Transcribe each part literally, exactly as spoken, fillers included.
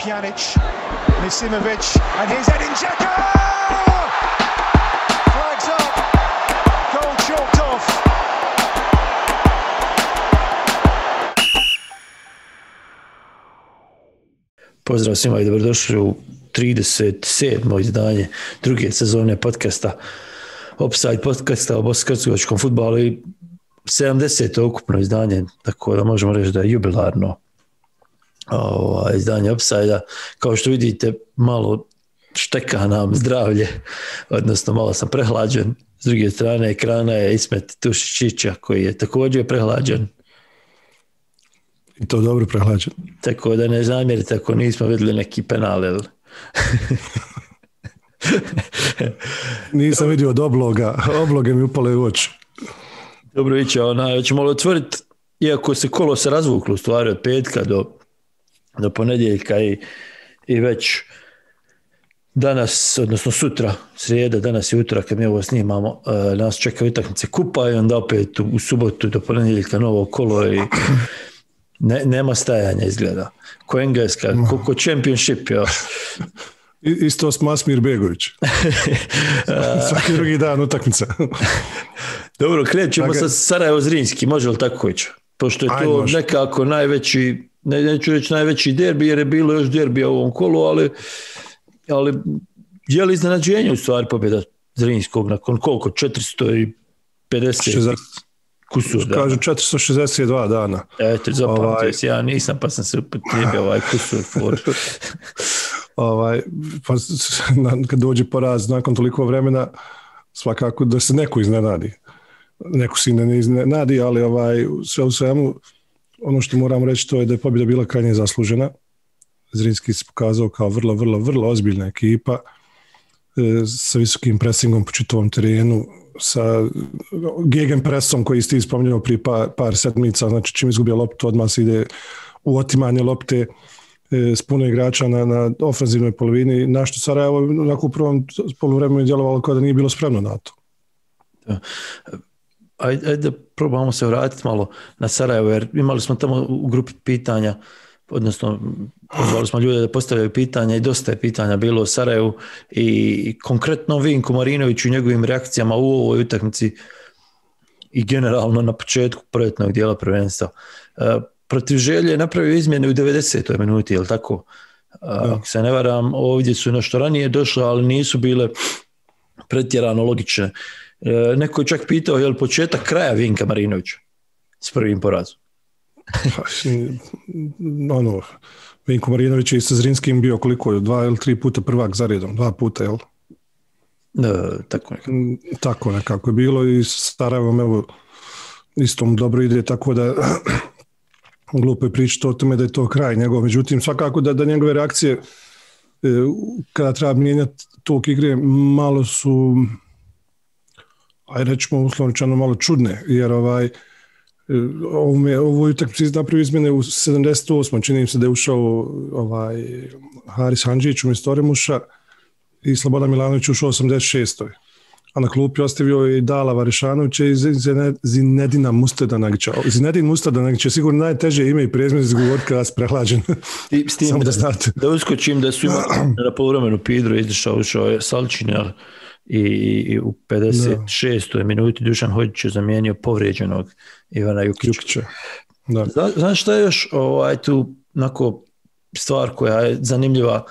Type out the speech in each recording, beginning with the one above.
Pjanic, Misimovic, and here's Edin Dzeko! Flags up, goal chalked off. Pozdrav svima i dobrodošli u trideset sedmo izdanje druge sezone podcasta Offside podcasta o bosansko-hercegovačkom fudbalu i sedamdeseto ukupno izdanje, tako da možemo reći da je jubilarno ovo, izdanje Offside-a. Kao što vidite, malo šteka nam zdravlje, odnosno malo sam prehlađen. S druge strane ekrana je Ismet Tušičića koji je također prehlađen. I to dobro prehlađen. Tako da ne zamjerite ako nismo vidjeli neki penal. Nisam vidio od obloga. Obloge mi upale u oči. Dobro, iće, ona, ćemo li otvoriti, iako se kolo se razvuklo u stvari od petka do, do ponedjeljka i, i već danas, odnosno sutra, srijeda, danas i utorak kad mi ovo snimamo, uh, nas čeka utakmice kupa i onda opet u, u subotu do ponedjeljka novo kolo i ne, nema stajanja izgleda. Ko Engleska, ko, ko Championship, jo. Isto s Masmir Begović. Svaki drugi dan utakmica. Dobro, krećemo sa Sarajevo-Zrinski, može li tako ići? Pošto je to Aj, nekako najveći, ne, neću reći najveći derbi, jer je bilo još derbija u ovom kolu, ali, ali je li iznenađenje u stvari pobjeda Zrinskog nakon koliko? četiristo pedeset kusur dana. Kažu četiristo šezdeset dva dana. Eto, zapamtio ovaj... se, ja nisam, pa sam se upotrijebio ovaj kusur for. Ovaj, pa kad dođe poraz nakon toliko vremena, svakako da se neko iznenadi. Neko se ne iznenadi, ali ovaj, sve u svemu, ono što moram reći to je da je pobjeda bila krajnje zaslužena. Zrinski se pokazao kao vrlo, vrlo, vrlo ozbiljna ekipa e, sa visokim presingom po čitavom terenu, sa gegenpresom koji ste spominjali prije par, par sedmica, znači čim izgubio loptu odmah se ide u otimanje lopte s puno igrača na, na ofenzivnoj polovini, na što Sarajevo onako u prvom poluvremenu je djelovalo kao da nije bilo spremno na to. Da. Ajde, ajde da probamo se vratiti malo na Sarajevo, jer imali smo tamo u grupi pitanja, odnosno pozvali smo ljude da postavljaju pitanja i dosta je pitanja bilo o Sarajevu i konkretno Vinko Marinoviću i njegovim reakcijama u ovoj utakmici i generalno na početku proljetnog dijela prvenstva. Protiv Želje je napravio izmjene u devedesetoj minuti, je li tako? Da. Ako se ne varam, ovdje su nešto ranije došle, ali nisu bile pretjerano logične. Neko je čak pitao je li početak kraja Vinka Marinovića s prvim porazom? ono, Vinko Marinović je i sa Zrinskim bio koliko, dva ili tri puta prvak za redom, dva puta, jel? Da, tako nekako. Tako nekako je bilo i s Sarajevom, evo, istom dobro ide, tako da glupo je pričati o tome da je to kraj njegov, međutim svakako da, da njegove reakcije e, kada treba mijenjati tok igre malo su, aj rećemo uslovničano malo čudne, jer ovaj ovo utakmicu napravio izmjene u sedamdeset osmoj čini mi se da je ušao ovaj Haris Handžić umjesto Oremuša i Slobodan Milanović ušao u osamdeset šestoj a na klupi ostavio i Dala Varišanovića i Zinedina Mustadanagića. Zinedin Mustadanagić je sigurno najteže ime i prezime izgovoriti kada se prehlađen. I s tim da, da, da uskočim da su imali na poluvremenu Pidro izašao, ušao je Salčinjar i, i u pedeset šestoj minuti Dušan Hođić je zamijenio povrijeđenog Ivana Jukića. Jukića. Da. Zna, znaš šta je još ovaj, tu nako stvar koja je zanimljiva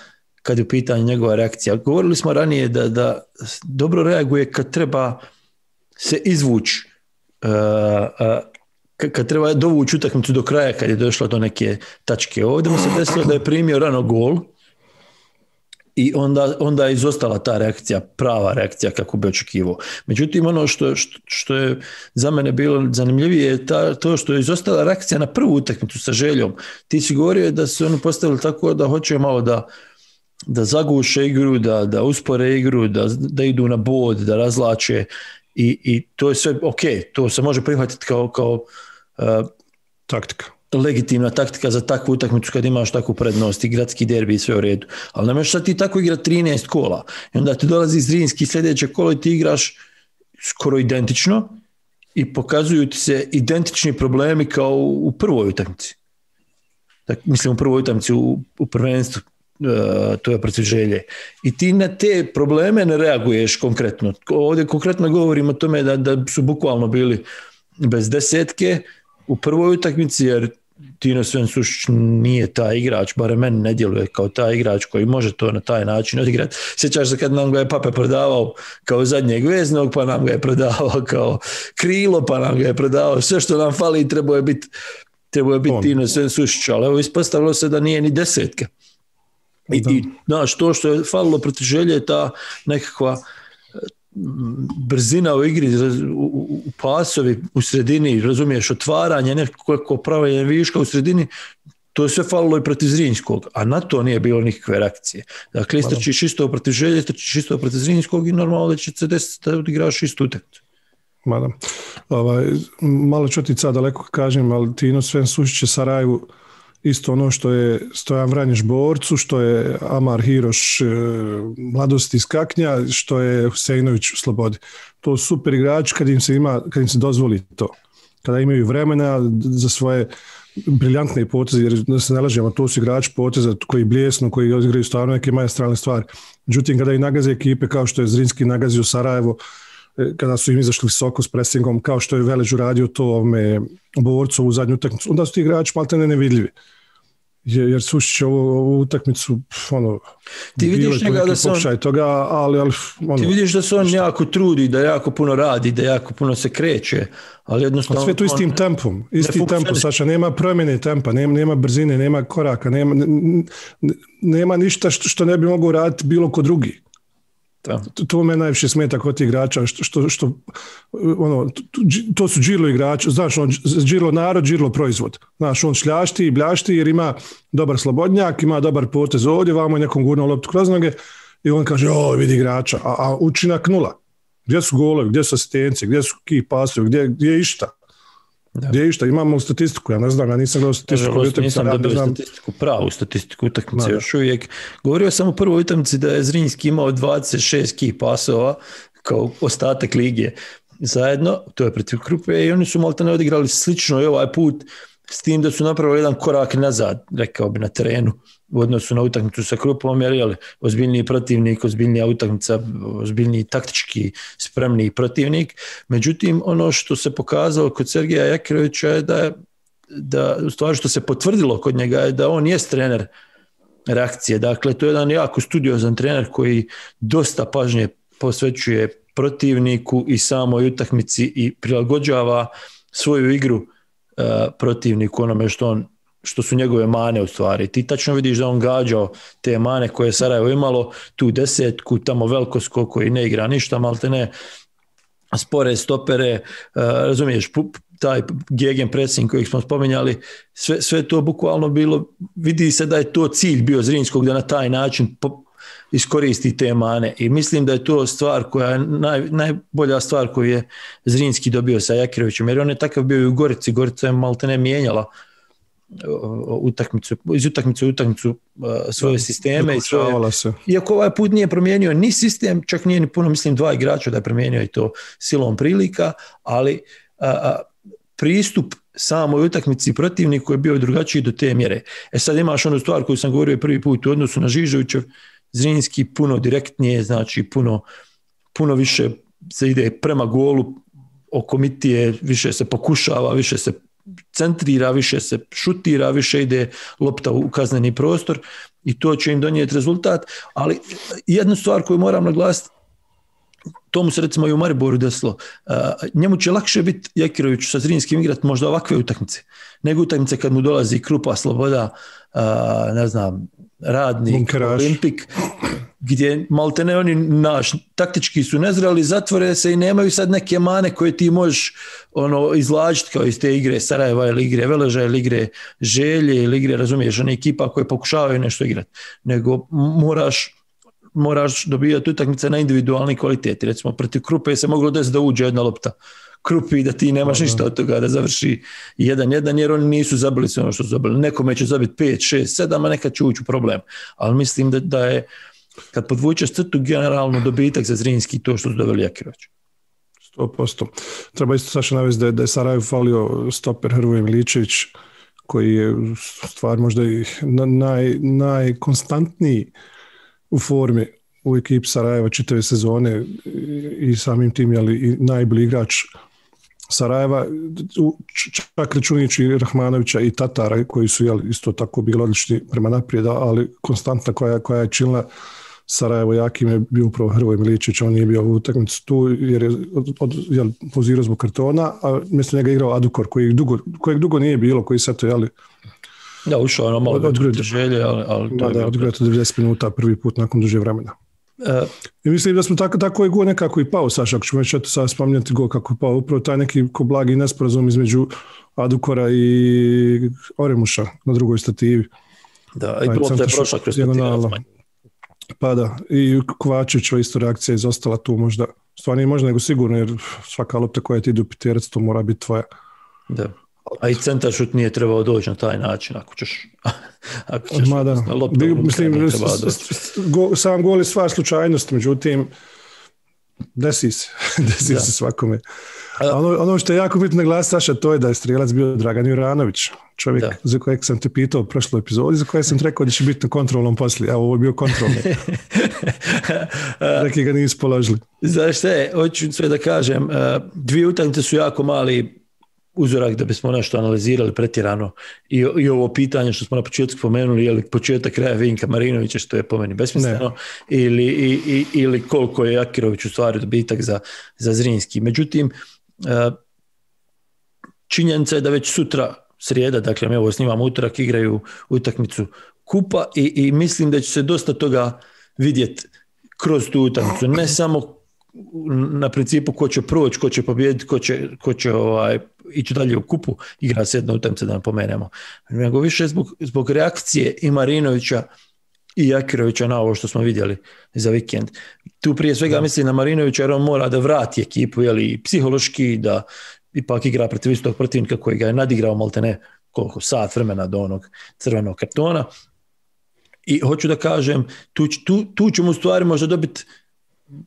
kad je u pitanju njegova reakcija. Govorili smo ranije da, da dobro reaguje kad treba se izvući, uh, uh, kad treba dovući utakmicu do kraja, kad je došlo do neke tačke. Ovdje mu se desilo da je primio rano gol i onda, onda je izostala ta reakcija, prava reakcija kako bi očekivao. Međutim, ono što, što, što je za mene bilo zanimljivije je ta, to što je izostala reakcija na prvu utakmicu sa Željom. Ti si govorio da su oni postavili tako da hoće malo da da zaguše igru, da, da uspore igru, da, da idu na bod, da razlače i, i to je sve ok, to se može prihvatiti kao, kao uh, taktika. Legitimna taktika za takvu utakmicu kad imaš takvu prednost i gradski derbi i sve u redu. Ali nemaš sad ti tako igra trinaest kola i onda ti dolazi Zrinski sljedeće kolo i ti igraš skoro identično i pokazuju ti se identični problemi kao u prvoj utakmici. Tak, mislim u prvoj utakmici u, u prvenstvu Uh, to je protiv Želje. I ti na te probleme ne reaguješ konkretno. Ovdje konkretno govorimo o tome da, da su bukvalno bili bez desetke u prvoj utakmici, jer Tino Svensušić nije taj igrač, barem meni ne djeluje kao taj igrač koji može to na taj način odigrati. Sjećaš se kad nam ga je Pape prodavao kao zadnjeg veznog, pa nam ga je prodavao kao krilo, pa nam ga je prodavao sve što nam fali, trebao je biti trebao je biti Tino Svensušić, ali evo ispostavilo se da nije ni desetke. I, i znaš, to što je falilo protiv Želje je ta nekakva brzina u igri, u, u pasovi u sredini, razumiješ, otvaranje, nekako pravljenje viška u sredini, to je sve falilo i protiv Zrinjskog, a na to nije bilo nikakve reakcije. Dakle, istrčiš isto protiv Želje, istrčiš isto protiv Zrinjskog i normalno da će se desiti da odigraš istu utakmicu. Mada, ovaj, malo ću ti sad daleko kažem, ali Tino Svensušić je Sarajevu isto ono što je Stojan Vranješ Borcu, što je Amar Hiroš e, Mladosti iz Kaknja, što je Huseinović u Slobodi. To su super igrači kad im se ima, kad im se dozvoli to. Kada imaju vremena za svoje briljantne poteze, jer da se ne lažemo, to su igrači poteza koji bljesnu, koji igraju stvarno neke maestralne stvari. Međutim, kada i nagaze ekipe kao što je Zrinski nagazio Sarajevo, kada su im izašli visoko s presingom, kao što je Velež uradio to ovome Borcu u zadnju utakmicu, onda su ti igrači maltene nevidljivi. Jer Sušić ovu, ovu utakmicu ono, ti vidiš njega da se on, toga, ali, ali, ono, ti vidiš da se on šta? jako trudi, da jako puno radi, da jako puno se kreće, ali jednostavno... Sve to istim on, tempom, isti tempo, Saša, nema promjene tempa, nema, nema brzine, nema koraka, nema, nema ništa što, što ne bi mogao raditi bilo ko drugi. To, to me najviše smeta kod tih igrača, što, što, što ono, to, to su džirlo igrači, znaš, on, džirlo narod, džirlo proizvod. Znaš, on šljašti i bljašti jer ima dobar slobodnjak, ima dobar potez ovdje, vamo je nekom gurno loptu kroz noge i on kaže, o, vidi igrača, a, a učinak nula. Gdje su golovi, gdje su asistencije, gdje su key pasovi, gdje, gdje je išta? Da. Gdje je išta? Imamo statistiku, ja ne znam, ja nisam gledao statistiku. Nažalost, nisam dobio znam... statistiku, pravu statistiku utakmice još uvijek. Govorio sam u prvoj utakmici da je Zrinjski imao dvadeset šest key pasova kao ostatak lige zajedno, to je protiv Krupe i oni su maltene odigrali slično i ovaj put s tim da su napravili jedan korak nazad, rekao bi na terenu u odnosu na utakmicu sa Krupom, jer je ozbiljniji protivnik, ozbiljnija utakmica, ozbiljniji taktički spremniji protivnik. Međutim, ono što se pokazalo kod Sergeja Jakirovića je da, da u stvari što se potvrdilo kod njega je da on jest trener reakcije. Dakle, to je jedan jako studiozan trener koji dosta pažnje posvećuje protivniku i samoj utakmici i prilagođava svoju igru uh, protivniku onome što on što su njegove mane u stvari. Ti tačno vidiš da on gađao te mane koje je Sarajevo imalo, tu desetku, tamo Velkosko koji ne igra ništa, malte ne, spore stopere, uh, razumiješ, taj gegen pressing kojeg smo spominjali, sve, sve to bukvalno bilo, vidi se da je to cilj bio Zrinjskog da na taj način po, iskoristi te mane i mislim da je to stvar koja je naj, najbolja stvar koju je Zrinjski dobio sa Jakirovićem, jer on je takav bio i u Gorici, Gorica je malte ne mijenjala utakmicu, iz utakmice u utakmicu uh, svoje sisteme i svoje, se. Iako ovaj put nije promijenio ni sistem, čak nije ni puno, mislim dva igrača da je promijenio i to silom prilika, ali uh, uh, pristup samoj utakmici protivniku je bio drugačiji do te mjere. E sad imaš onu stvar koju sam govorio prvi put u odnosu na Žižovićev, Zrinjski puno direktnije, znači puno, puno više se ide prema golu oko mitije, više se pokušava, više se centrira, više se šutira, više ide lopta u kazneni prostor i to će im donijeti rezultat, ali jednu stvar koju moram naglasiti, to mu se recimo i u Mariboru desilo, uh, njemu će lakše biti Jakiroviću sa Zrinjskim igrati možda ovakve utakmice, nego utakmice kad mu dolazi Krupa, Sloboda, uh, ne znam, Radnik, Bunkeraš. Olimpik, gdje maltene oni naš, taktički su nezreli, zatvore se i nemaju sad neke mane koje ti možeš ono, izlažiti kao iz te igre Sarajeva ili igre Veleža ili igre Želje ili igre, razumiješ, one ekipa koje pokušavaju nešto igrati, nego moraš moraš dobijati utakmice na individualni kvaliteti. Recimo, protiv Krupe se moglo desiti da uđe jedna lopta Krupi da ti nemaš ništa od toga da završi jedan jedan, jer oni nisu zabili sve ono što su zabili. Nekome će zabiti pet, šest, sedam, a nekad će ući u problem. Ali mislim da, da je, kad podvučeš crtu, generalno dobitak za Zrinjski to što su doveli Jakirović. sto posto. Treba isto Saša navesti da je, da je Sarajevo falio stoper Hrvoje Miličević, koji je stvar možda i naj, najkonstantniji u formi u ekipi Sarajeva čitave sezone i samim tim jeli, i najbolji igrač Sarajeva, čak računajući Rahmanovića i Tatara koji su jeli, isto tako bili odlični prema naprijed, ali konstantna koja, koja je činila Sarajevo jakim je bio upravo Hrvoje Milićević, on nije bio u utakmici tu jer je od, od, jel, pozirao zbog kartona, a mjesto njega igrao Adukor koji dugo, kojeg dugo nije bilo, koji sad to jeli da, ušao ono malo od želje, ali, ali da, da, odgledao devedeset minuta prvi put nakon duže vremena. Uh, I mislim da smo tako, tako je go nekako i pao, Saša, ako ćemo već eto sad spominjati go kako je pao, upravo taj neki ko blagi nesporazum između Adukora i Oremuša na drugoj stativi. Da, i lopta je prošla kroz stativu. Pa da, i Kovačevićeva isto reakcija je izostala tu možda, stvarno nije možda nego sigurno, jer svaka lopta koja ti ide u piterac, to mora biti tvoja. Da. A i centar šut nije trebao doći na taj način, ako ćeš, ako ćeš Ma da. lopta Bi, unutra, mislim, nije trebao doći. Go, sam gol je stvar slučajnost, međutim, desi se, desi da. se svakome. A ono, ono što je jako bitno naglasiti, Saša, to je da je strijelac bio Dragan Juranović, čovjek da. za kojeg sam te pitao u prošloj epizodi, za kojeg sam rekao da će biti na kontrolnom poslije. Evo, ovo je bio kontrolni. Neki ga nisu položili. Znaš šta, hoću sve da kažem, dvije utakmice su jako mali uzorak da bismo nešto analizirali pretjerano i, i ovo pitanje što smo na početku spomenuli, je li početak kraja Vinka Marinovića, što je po meni besmisleno, ili, i, i, ili koliko je Akirović u stvari dobitak za, za Zrinski. Međutim, činjenica je da već sutra srijeda, dakle mi ovo snimamo utorak, igraju utakmicu kupa i, i mislim da će se dosta toga vidjeti kroz tu utakmicu, ne samo na principu ko će proći, ko će pobijediti, ko će, ko će ovaj, ići dalje u kupu, igra se jedna utakmica da napomenemo. Nego više zbog, zbog reakcije i Marinovića i Jakirovića na ovo što smo vidjeli za vikend. Tu prije svega mislim na Marinovića jer on mora da vrati ekipu, jeli, psihološki, da ipak igra protiv istog protivnika koji ga je nadigrao maltene koliko sat vremena do onog crvenog kartona. I hoću da kažem, tu, tu, tu ćemo u stvari možda dobiti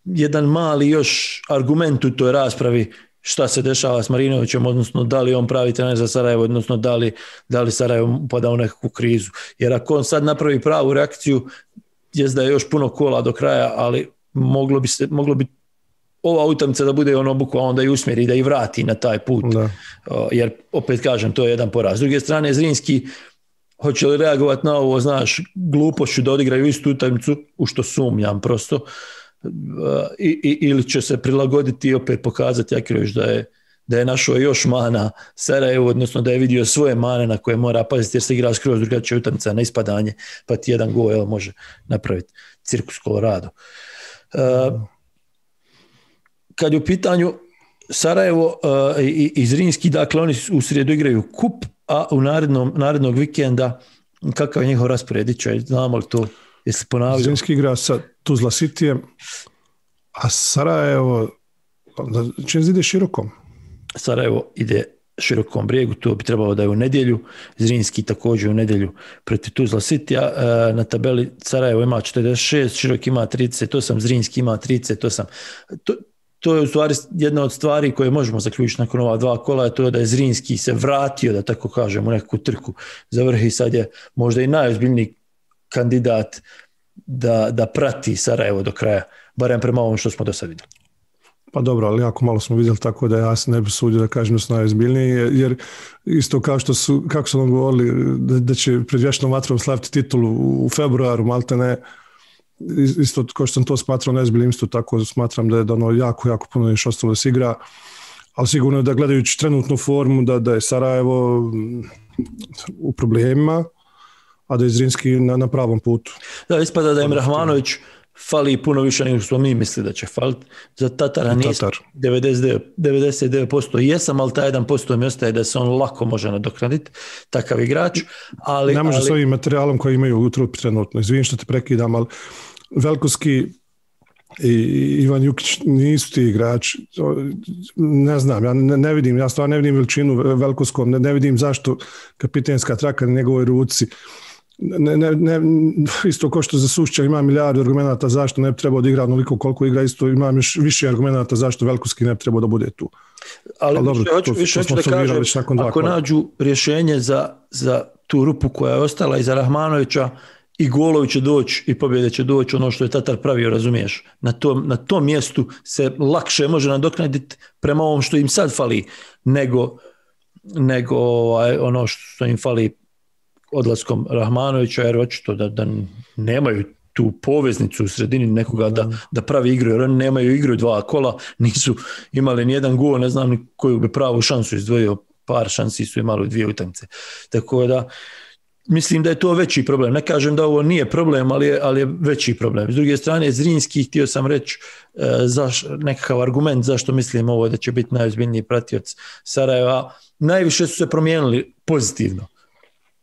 jedan mali još argument u toj raspravi šta se dešava s Marinovićem, odnosno da li on pravi trener za Sarajevo, odnosno da li, da li Sarajevo upada u nekakvu krizu. Jer ako on sad napravi pravu reakciju, jest da je još puno kola do kraja, ali moglo bi, se, moglo bi ova utakmica da bude ono bukva onda i usmjeri, da i vrati na taj put. Da. Jer opet kažem, to je jedan poraz. S druge strane, Zrinski hoće li reagovati na ovo, znaš, glupošću da odigraju istu utakmicu, u što sumnjam prosto, I, i, ili će se prilagoditi i opet pokazati Jakirović da je, da je našao još mana Sarajevo, odnosno da je vidio svoje mane na koje mora paziti jer se igra skroz drugačija utakmica na ispadanje, pa ti jedan gol evo, može napraviti cirkus Colorado. Uh, kad je u pitanju Sarajevo uh, i, i Zrinski, dakle oni u srijedu igraju kup, a u narednom, narednog vikenda kakav je njihov raspored? Znamo li to? Jesi ponavljao? Zrinski igra sa Tuzla Cityjem, a Sarajevo čim ide širokom? Sarajevo ide širokom brijegu, to bi trebalo da je u nedjelju. Zrinski također u nedjelju protiv Tuzla Cityja. Na tabeli Sarajevo ima četrdeset šest, Širok ima trideset osam, Zrinski ima trideset osam. To, to je u stvari jedna od stvari koje možemo zaključiti nakon ova dva kola, to je da je Zrinski se vratio, da tako kažem, u neku trku za vrh i sad je možda i najozbiljniji kandidat da, da prati Sarajevo do kraja, barem prema ovom što smo do sad vidjeli. Pa dobro, ali jako malo smo vidjeli, tako da ja se ne bi sudio da kažem da su najozbiljniji, jer isto kao što su, kako su nam govorili da, da će pred vječnom vatrom slaviti titulu u februaru, maltene, isto kao što sam to smatrao najozbiljnijim, isto tako smatram da je da ono jako, jako puno još ostalo da se igra, ali sigurno da gledajući trenutnu formu da, da je Sarajevo u problemima, a da je Zrinski na, na pravom putu. Da, ispada da im Rahmanović fali puno više nego što mi misli da će faliti. Za Tatara nisam devedeset devet posto jesam, ali taj jedan posto mi ostaje da se on lako može nadoknaditi, takav igrač. Ali, ne može ali... s ovim materijalom koji imaju u trupi trenutno. Izvim što te prekidam, ali Velkovski i Ivan Jukić nisu ti igrači. Ne znam, ja ne, ne vidim, ja stvarno ne vidim veličinu Velkovskom, ne, ne vidim zašto kapitenska traka na njegovoj ruci ne, ne, ne, isto ko što za Sušća ima milijardu argumenata zašto ne bi trebao da igra onoliko koliko igra, isto imam još više argumenata zašto Velkovski ne bi trebao da bude tu. Ali, Ali dobro, hoću, to, više to hoću da kažem, ako nađu rješenje za, za tu rupu koja je ostala iza Rahmanovića, i golovi će doći i pobjede će doći, ono što je Tatar pravio, razumiješ. Na tom, na tom mjestu se lakše može nadoknaditi prema ovom što im sad fali, nego, nego ovaj, ono što im fali odlaskom Rahmanovića, jer očito da, da nemaju tu poveznicu u sredini nekoga da, da pravi igru, jer oni nemaju igru dva kola, nisu imali nijedan gol, ne znam ni koju bi pravu šansu izdvojio, par šansi su imali u dvije utakmice. Tako da mislim da je to veći problem. Ne kažem da ovo nije problem, ali je, ali je veći problem. S druge strane, Zrinski, htio sam reći e, zaš, nekakav argument zašto mislim ovo da će biti najozbiljniji pratioc Sarajeva. Najviše su se promijenili pozitivno.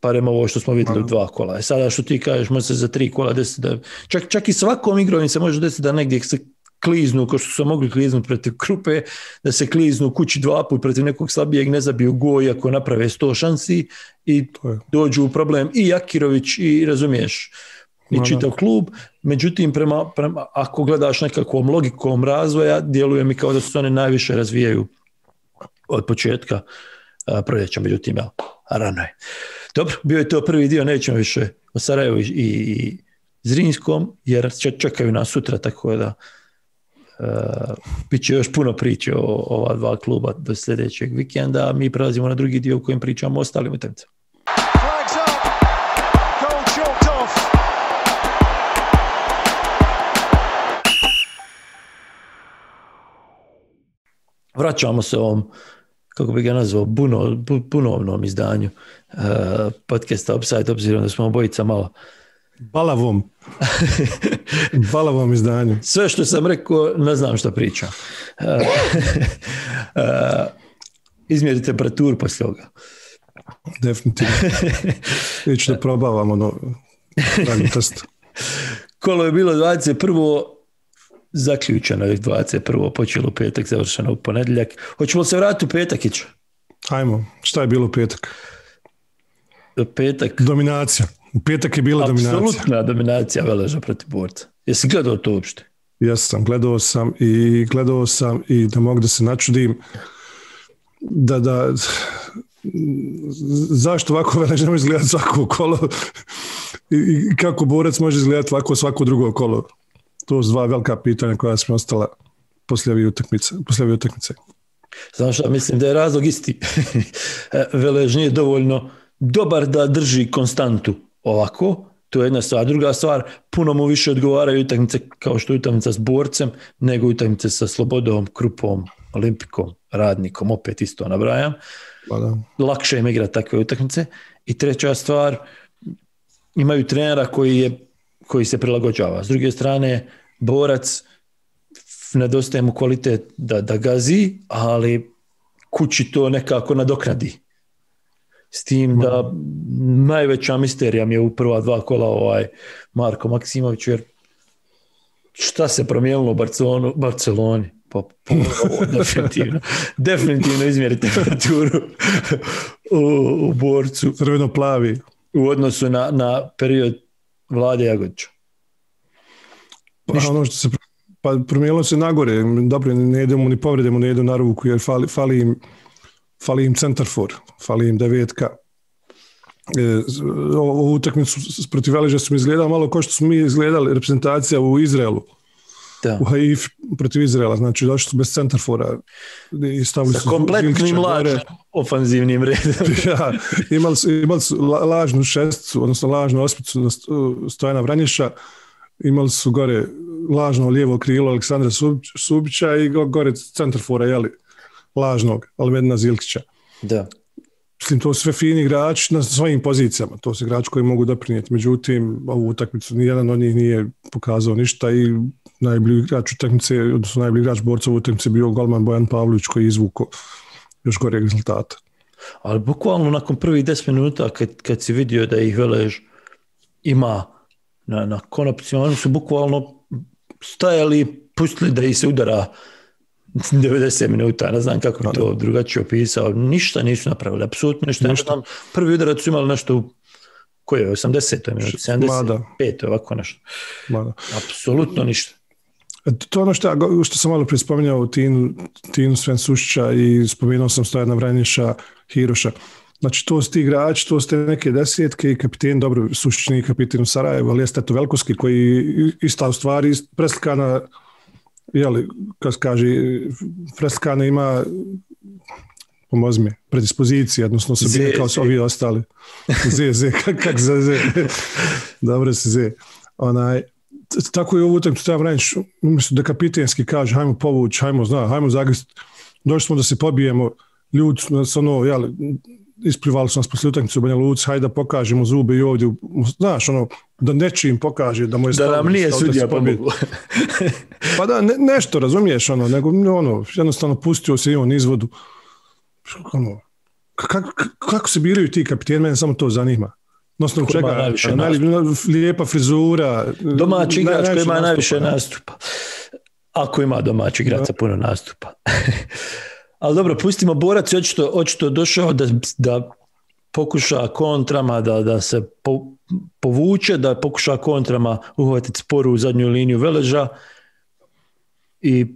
Parem ovo što smo vidjeli u dva kola. E sada što ti kažeš, može se za tri kola desiti da... Čak, čak i svakom igrom se može desiti da negdje se kliznu, kao što su mogli kliznuti protiv Krupe, da se kliznu kući dva put protiv nekog slabijeg, ne zabiju gol iako naprave sto šansi i dođu u problem i Jakirović i razumiješ i čitav klub. Međutim, prema, prema, ako gledaš nekakvom logikom razvoja, djeluje mi kao da se one najviše razvijaju od početka a, proljeća, međutim, ja, rano je. Dobro, bio je to prvi dio, nećemo više o Sarajevu i, i Zrinskom, jer čekaju nas sutra, tako da Uh, bit će još puno priče o, o ova dva kluba do sljedećeg vikenda, a mi prelazimo na drugi dio u kojem pričamo o ostalim utakmicama. Vraćamo se ovom, kako bi ga nazvao, buno, bu, bunovnom izdanju uh, podcasta Offside, obzirom da smo obojica malo Balavom. Balavom izdanju. Sve što sam rekao, ne znam što pričam. Uh, uh, izmjeri temperaturu poslije ovoga. Definitivno. Ići da probavam ono radni test. Kolo je bilo dvadeset prvo zaključeno je dvadeset prvo počelo u petak, završeno u ponedjeljak. Hoćemo se vratiti u petak, Ićo? Ajmo, šta je bilo u petak? U petak? Dominacija. U petak je bila dominacija. Apsolutna dominacija Veleža protiv Borca. Jesi gledao to uopšte? Jesam, gledao sam i gledao sam i da mogu da se načudim da, da zašto ovako Velež ne može izgledati svako kolo i kako Borac može izgledati ovako svako drugo kolo. To su dva velika pitanja koja su mi ostala poslije ove utakmice. Poslije ove utakmice. Znam šta, mislim da je razlog isti. Velež nije dovoljno dobar da drži konstantu ovako, to je jedna stvar. Druga stvar, puno mu više odgovaraju utakmice kao što je utakmica s Borcem, nego utakmice sa Slobodom, Krupom, Olimpikom, Radnikom, opet isto nabrajam. Pa da. Lakše im igra takve utakmice. I treća stvar, imaju trenera koji, je, koji se prilagođava. S druge strane, Borac nedostaje mu kvalitet da, da gazi, ali kući to nekako nadoknadi. S tim da najveća misterija mi je u prva dva kola ovaj Marko Maksimović, jer šta se promijenilo u Barcelonu, Barceloni? Pa, pa definitivno, definitivno izmjeri temperaturu u, u Borcu. Crveno-plavi. U odnosu na, na period Vlade Jagodića. Pa ono što se pa promijenilo se nagore. Dobro, ne idemo ni povredemo, ne idu na ruku, jer fali, fali im fali im centarfor, fali im devetka. E, ovu utakmicu protiv Veleža su mi izgledali malo kao što smo mi izgledali reprezentacija u Izraelu. Da. U Haifi protiv Izraela, znači došli su bez centarfora. I stavili sa kompletnim lažnim ofanzivnim redom. Ja, imali su, imali su lažnu šesticu, odnosno lažnu osmicu Stojana Vranješa, imali su gore lažno lijevo krilo Aleksandra Subića i gore centarfora, jeli, lažnog Almedina Zilkića. Da. Mislim, to su sve fini igrači na svojim pozicijama. To su igrači koji mogu doprinijeti. Međutim, ovu utakmicu nijedan od njih nije pokazao ništa i najbolji igrač utakmice, odnosno najbolji igrač Borca u utakmici bio golman Bojan Pavlović koji je izvukao još goreg rezultata. Ali bukvalno nakon prvih deset minuta kad, kad si vidio da ih Velež ima na, na konopciju, oni su bukvalno stajali i pustili da ih se udara devedeset minuta, ne znam kako bi to drugačije opisao, ništa nisu napravili, apsolutno ništa, ništa. Prvi udarac su imali nešto u koje je osamdeset minuti, sedamdeset pet ovako nešto. Mada. Apsolutno ništa. To je ono što, što sam malo prije spominjao Tinu, Tinu Sven Sušića i spomenuo sam Stojana Vranješa, Hiroša. Znači to su ti igrači, to su te neke desetke i kapiten, dobro, Sušić nije kapiten u Sarajevu, ali jeste to Velkovski koji ista u stvari preslikana, jeli, kako se kaže, preslikana ima, pomozi mi, predispozicije, odnosno se bine kao su ovi ostali. Z, Z, kak, kak za Z. Dobro se Z. Onaj, tako je ovu utakmicu treba Vranješ, umjesto da kapitenski kaže, hajmo povući, hajmo, zna, hajmo zagrist, došli smo da se pobijemo, ljudi su ono, jeli, isplivali su nas posle utakmice u Banja Luci, hajde da pokažemo zube i ovdje, znaš, ono, da nečim pokaže, da mu je stavno. Da nam nije sudija pomoglo. Pa da, ne, nešto, razumiješ, ono, nego, ono, jednostavno pustio se i on izvodu. Ono, kako, kako se biraju ti kapiteni, mene samo to zanima. Nosno čega, najviše naj, lijepa frizura. Domaći igrač koji ima najviše nastupa. Ako ima domaći igrač sa puno nastupa. Ali dobro, pustimo Borac je očito, očito došao da, da pokuša kontrama, da, da se po, povuče, da pokuša kontrama uhvatiti sporu u zadnju liniju Veleža i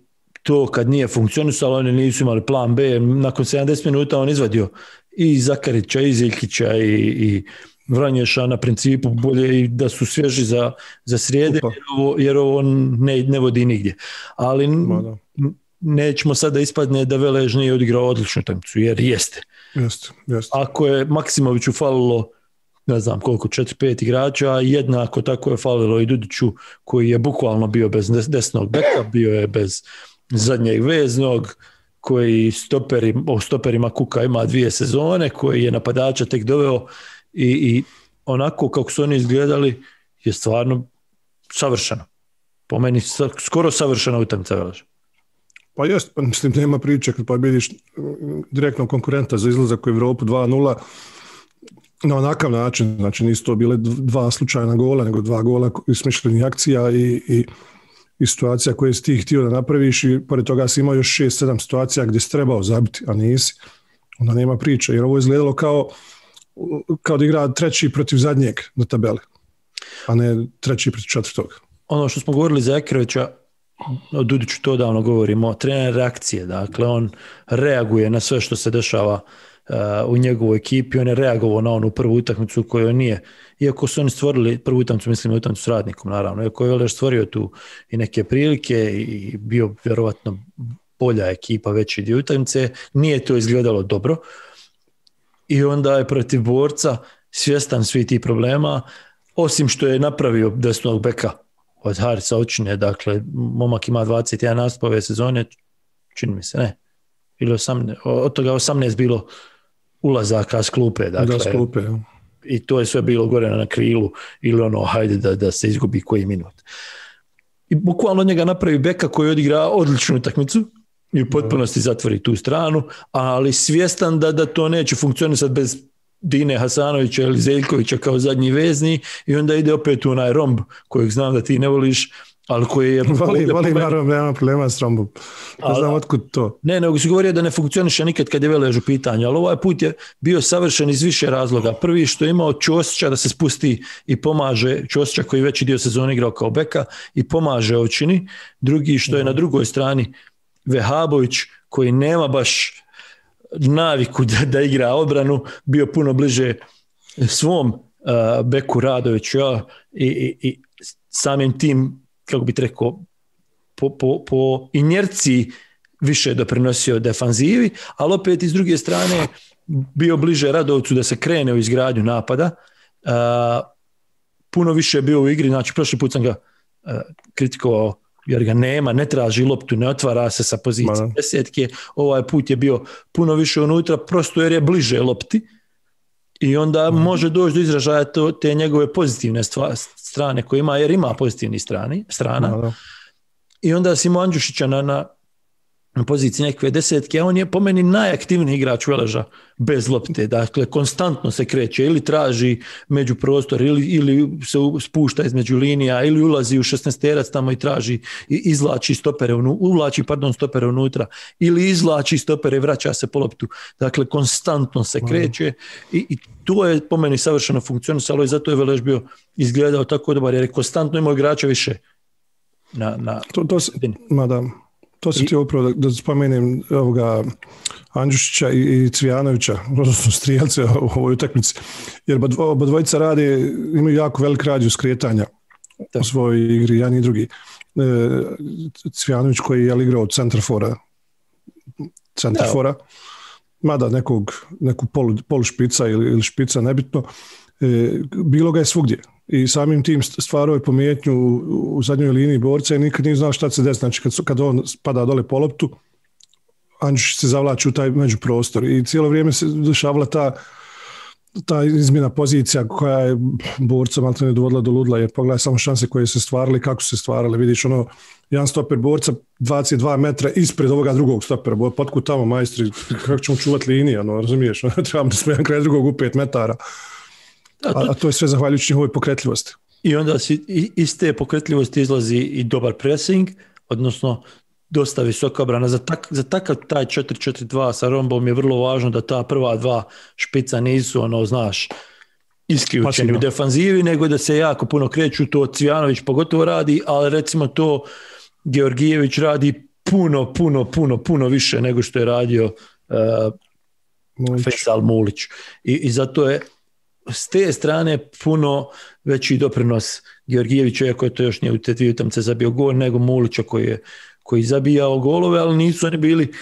to kad nije funkcionisalo, oni nisu imali plan B, nakon sedamdeset minuta on izvadio i Zakarića, i Ziljkića, i, i Vranješa na principu bolje i da su svježi za, za srijede, jer ovo, jer ovo ne, ne vodi nigdje. Ali n- nećemo sada ispadne da Velež nije odigrao odličnu utakmicu, jer jeste. Jeste, jeste. Ako je Maksimoviću falilo, ne znam koliko, četiri pet igrača, jednako tako je falilo i Dudiću, koji je bukvalno bio bez desnog beka, bio je bez zadnjeg veznog, koji stoperi, o stoperima Kuka ima dvije sezone, koji je napadača tek doveo i, i onako kako su oni izgledali je stvarno savršeno. Po meni skoro savršena utakmica Veleža. Pa jest, mislim, nema priče kad pobjediš direktno konkurenta za izlazak u Evropu dva nula na onakav način, znači nisu to bile dva slučajna gola, nego dva gola smišljenih akcija i, i, i situacija koje si ti htio da napraviš i pored toga si imao još šest sedam situacija gdje si trebao zabiti, a nisi, onda nema priče, jer ovo je izgledalo kao, kao da igra treći protiv zadnjeg na tabeli, a ne treći protiv četvrtog. Ono što smo govorili za Ekrovića, o Dudiću to davno govorimo, trener reakcije, dakle on reaguje na sve što se dešava uh, u njegovoj ekipi, on je reagovao na onu prvu utakmicu koju nije, iako su oni stvorili prvu utakmicu, mislim utakmicu s Radnikom naravno, iako je Velež stvorio tu i neke prilike i bio vjerovatno bolja ekipa veći dio utakmice, nije to izgledalo dobro i onda je protiv Borca svjestan svi ti problema, osim što je napravio desnog beka od Harisa Očine, dakle, momak ima dvadeset jedan nastup ove sezone, čini mi se, ne, ili osamnaest, od toga osamnaest bilo ulazaka s klupe, dakle, da, s klupe, ja. I to je sve bilo gore na krilu, ili ono, hajde da, da se izgubi koji minut. I bukvalno njega napravi beka koji odigra odličnu utakmicu i u potpunosti zatvori tu stranu, ali svjestan da, da to neće funkcionisati bez Dine Hasanovića ili Zeljkovića kao zadnji vezni i onda ide opet u onaj romb kojeg znam da ti ne voliš, ali koji je... Voli, voli naravno, nema problema s rombom. Ne znam otkud to. Ne, nego si govorio da ne funkcioniše nikad kad je Velež u pitanju, ali ovaj put je bio savršen iz više razloga. Prvi što je imao Ćosića da se spusti i pomaže, Ćosića koji veći dio sezone igrao kao beka i pomaže Ovčini. Drugi što je na drugoj strani Vehabović koji nema baš naviku da, da igra odbranu, bio puno bliže svom uh, beku Radoviću ja, i, i, i samim tim, kako bi rekao, po, po, po inerciji više doprinosio defanzivi, ali opet iz druge strane bio bliže Radovcu da se krene u izgradnju napada. Uh, puno više je bio u igri, znači prošli put sam ga uh, kritikovao jer ga nema, ne traži loptu, ne otvara se sa pozicije Ma. desetke, ovaj put je bio puno više unutra, prosto jer je bliže lopti i onda mm. može doći do izražaja to, te njegove pozitivne stva, strane koje ima, jer ima pozitivni strani, strana. Ma. I onda si imao Andjušića na, na na poziciji nekve desetke, a on je po meni najaktivniji igrač Veleža bez lopte, dakle konstantno se kreće ili traži među prostor ili, ili se spušta između linija ili ulazi u šesnaesterac tamo i traži i izvlači stopere, uvlači pardon stopere unutra ili izvlači stopere i vraća se po loptu, dakle konstantno se kreće i, i to je po meni savršeno funkcionisalo i zato je Velež bio izgledao tako dobar jer je konstantno imao igrača više na, na to, to se, mada To se ti upravo da, da spomenem ovoga Andjušića i, i Cvijanovića, odnosno strijelce u ovoj utakmici, jer oba dvojica rade, imaju jako velik radijus skretanja u svojoj igri, jedan i drugi. E, Cvijanović koji je igrao od centrafora, centrafora, mada nekog, neku polu, polu špica ili, ili špica, nebitno, e, bilo ga je svugdje. I samim tim stvarao je pomjetnju u, u zadnjoj liniji borca i nikad nije znao šta se desi. Znači kad, kad on spada dole po loptu, Andjušić se zavlači u taj međuprostor i cijelo vrijeme se dešavala ta, ta izmjena pozicija koja je borca malo ne dovodila do ludla, jer pogledaj samo šanse koje se stvarali, kako se stvarali. Vidiš ono, jedan stoper borca dvadeset dva metra ispred ovoga drugog stopera. Potkud tamo majstri, kako ćemo čuvati linije, ono, razumiješ? Trebamo da smo jedan kraj drugog u pet metara. A, a to je sve zahvaljujući njihovoj pokretljivosti. I onda si, iz te pokretljivosti izlazi i dobar pressing, odnosno dosta visoka obrana. Za, tak, za takav taj četiri četiri dva sa rombom je vrlo važno da ta prva dva špica nisu, ono, znaš, isključeni u defanzivi, nego da se jako puno kreću, to Cvijanović pogotovo radi, ali recimo to Georgijević radi puno, puno, puno, puno više nego što je radio uh, Faisal Mulić. I, I zato je s te strane puno veći doprinos Georgijevića, iako je to još nije u te dvije utakmice zabio gol, nego Mulića koji je koji zabijao golove, ali nisu oni bili,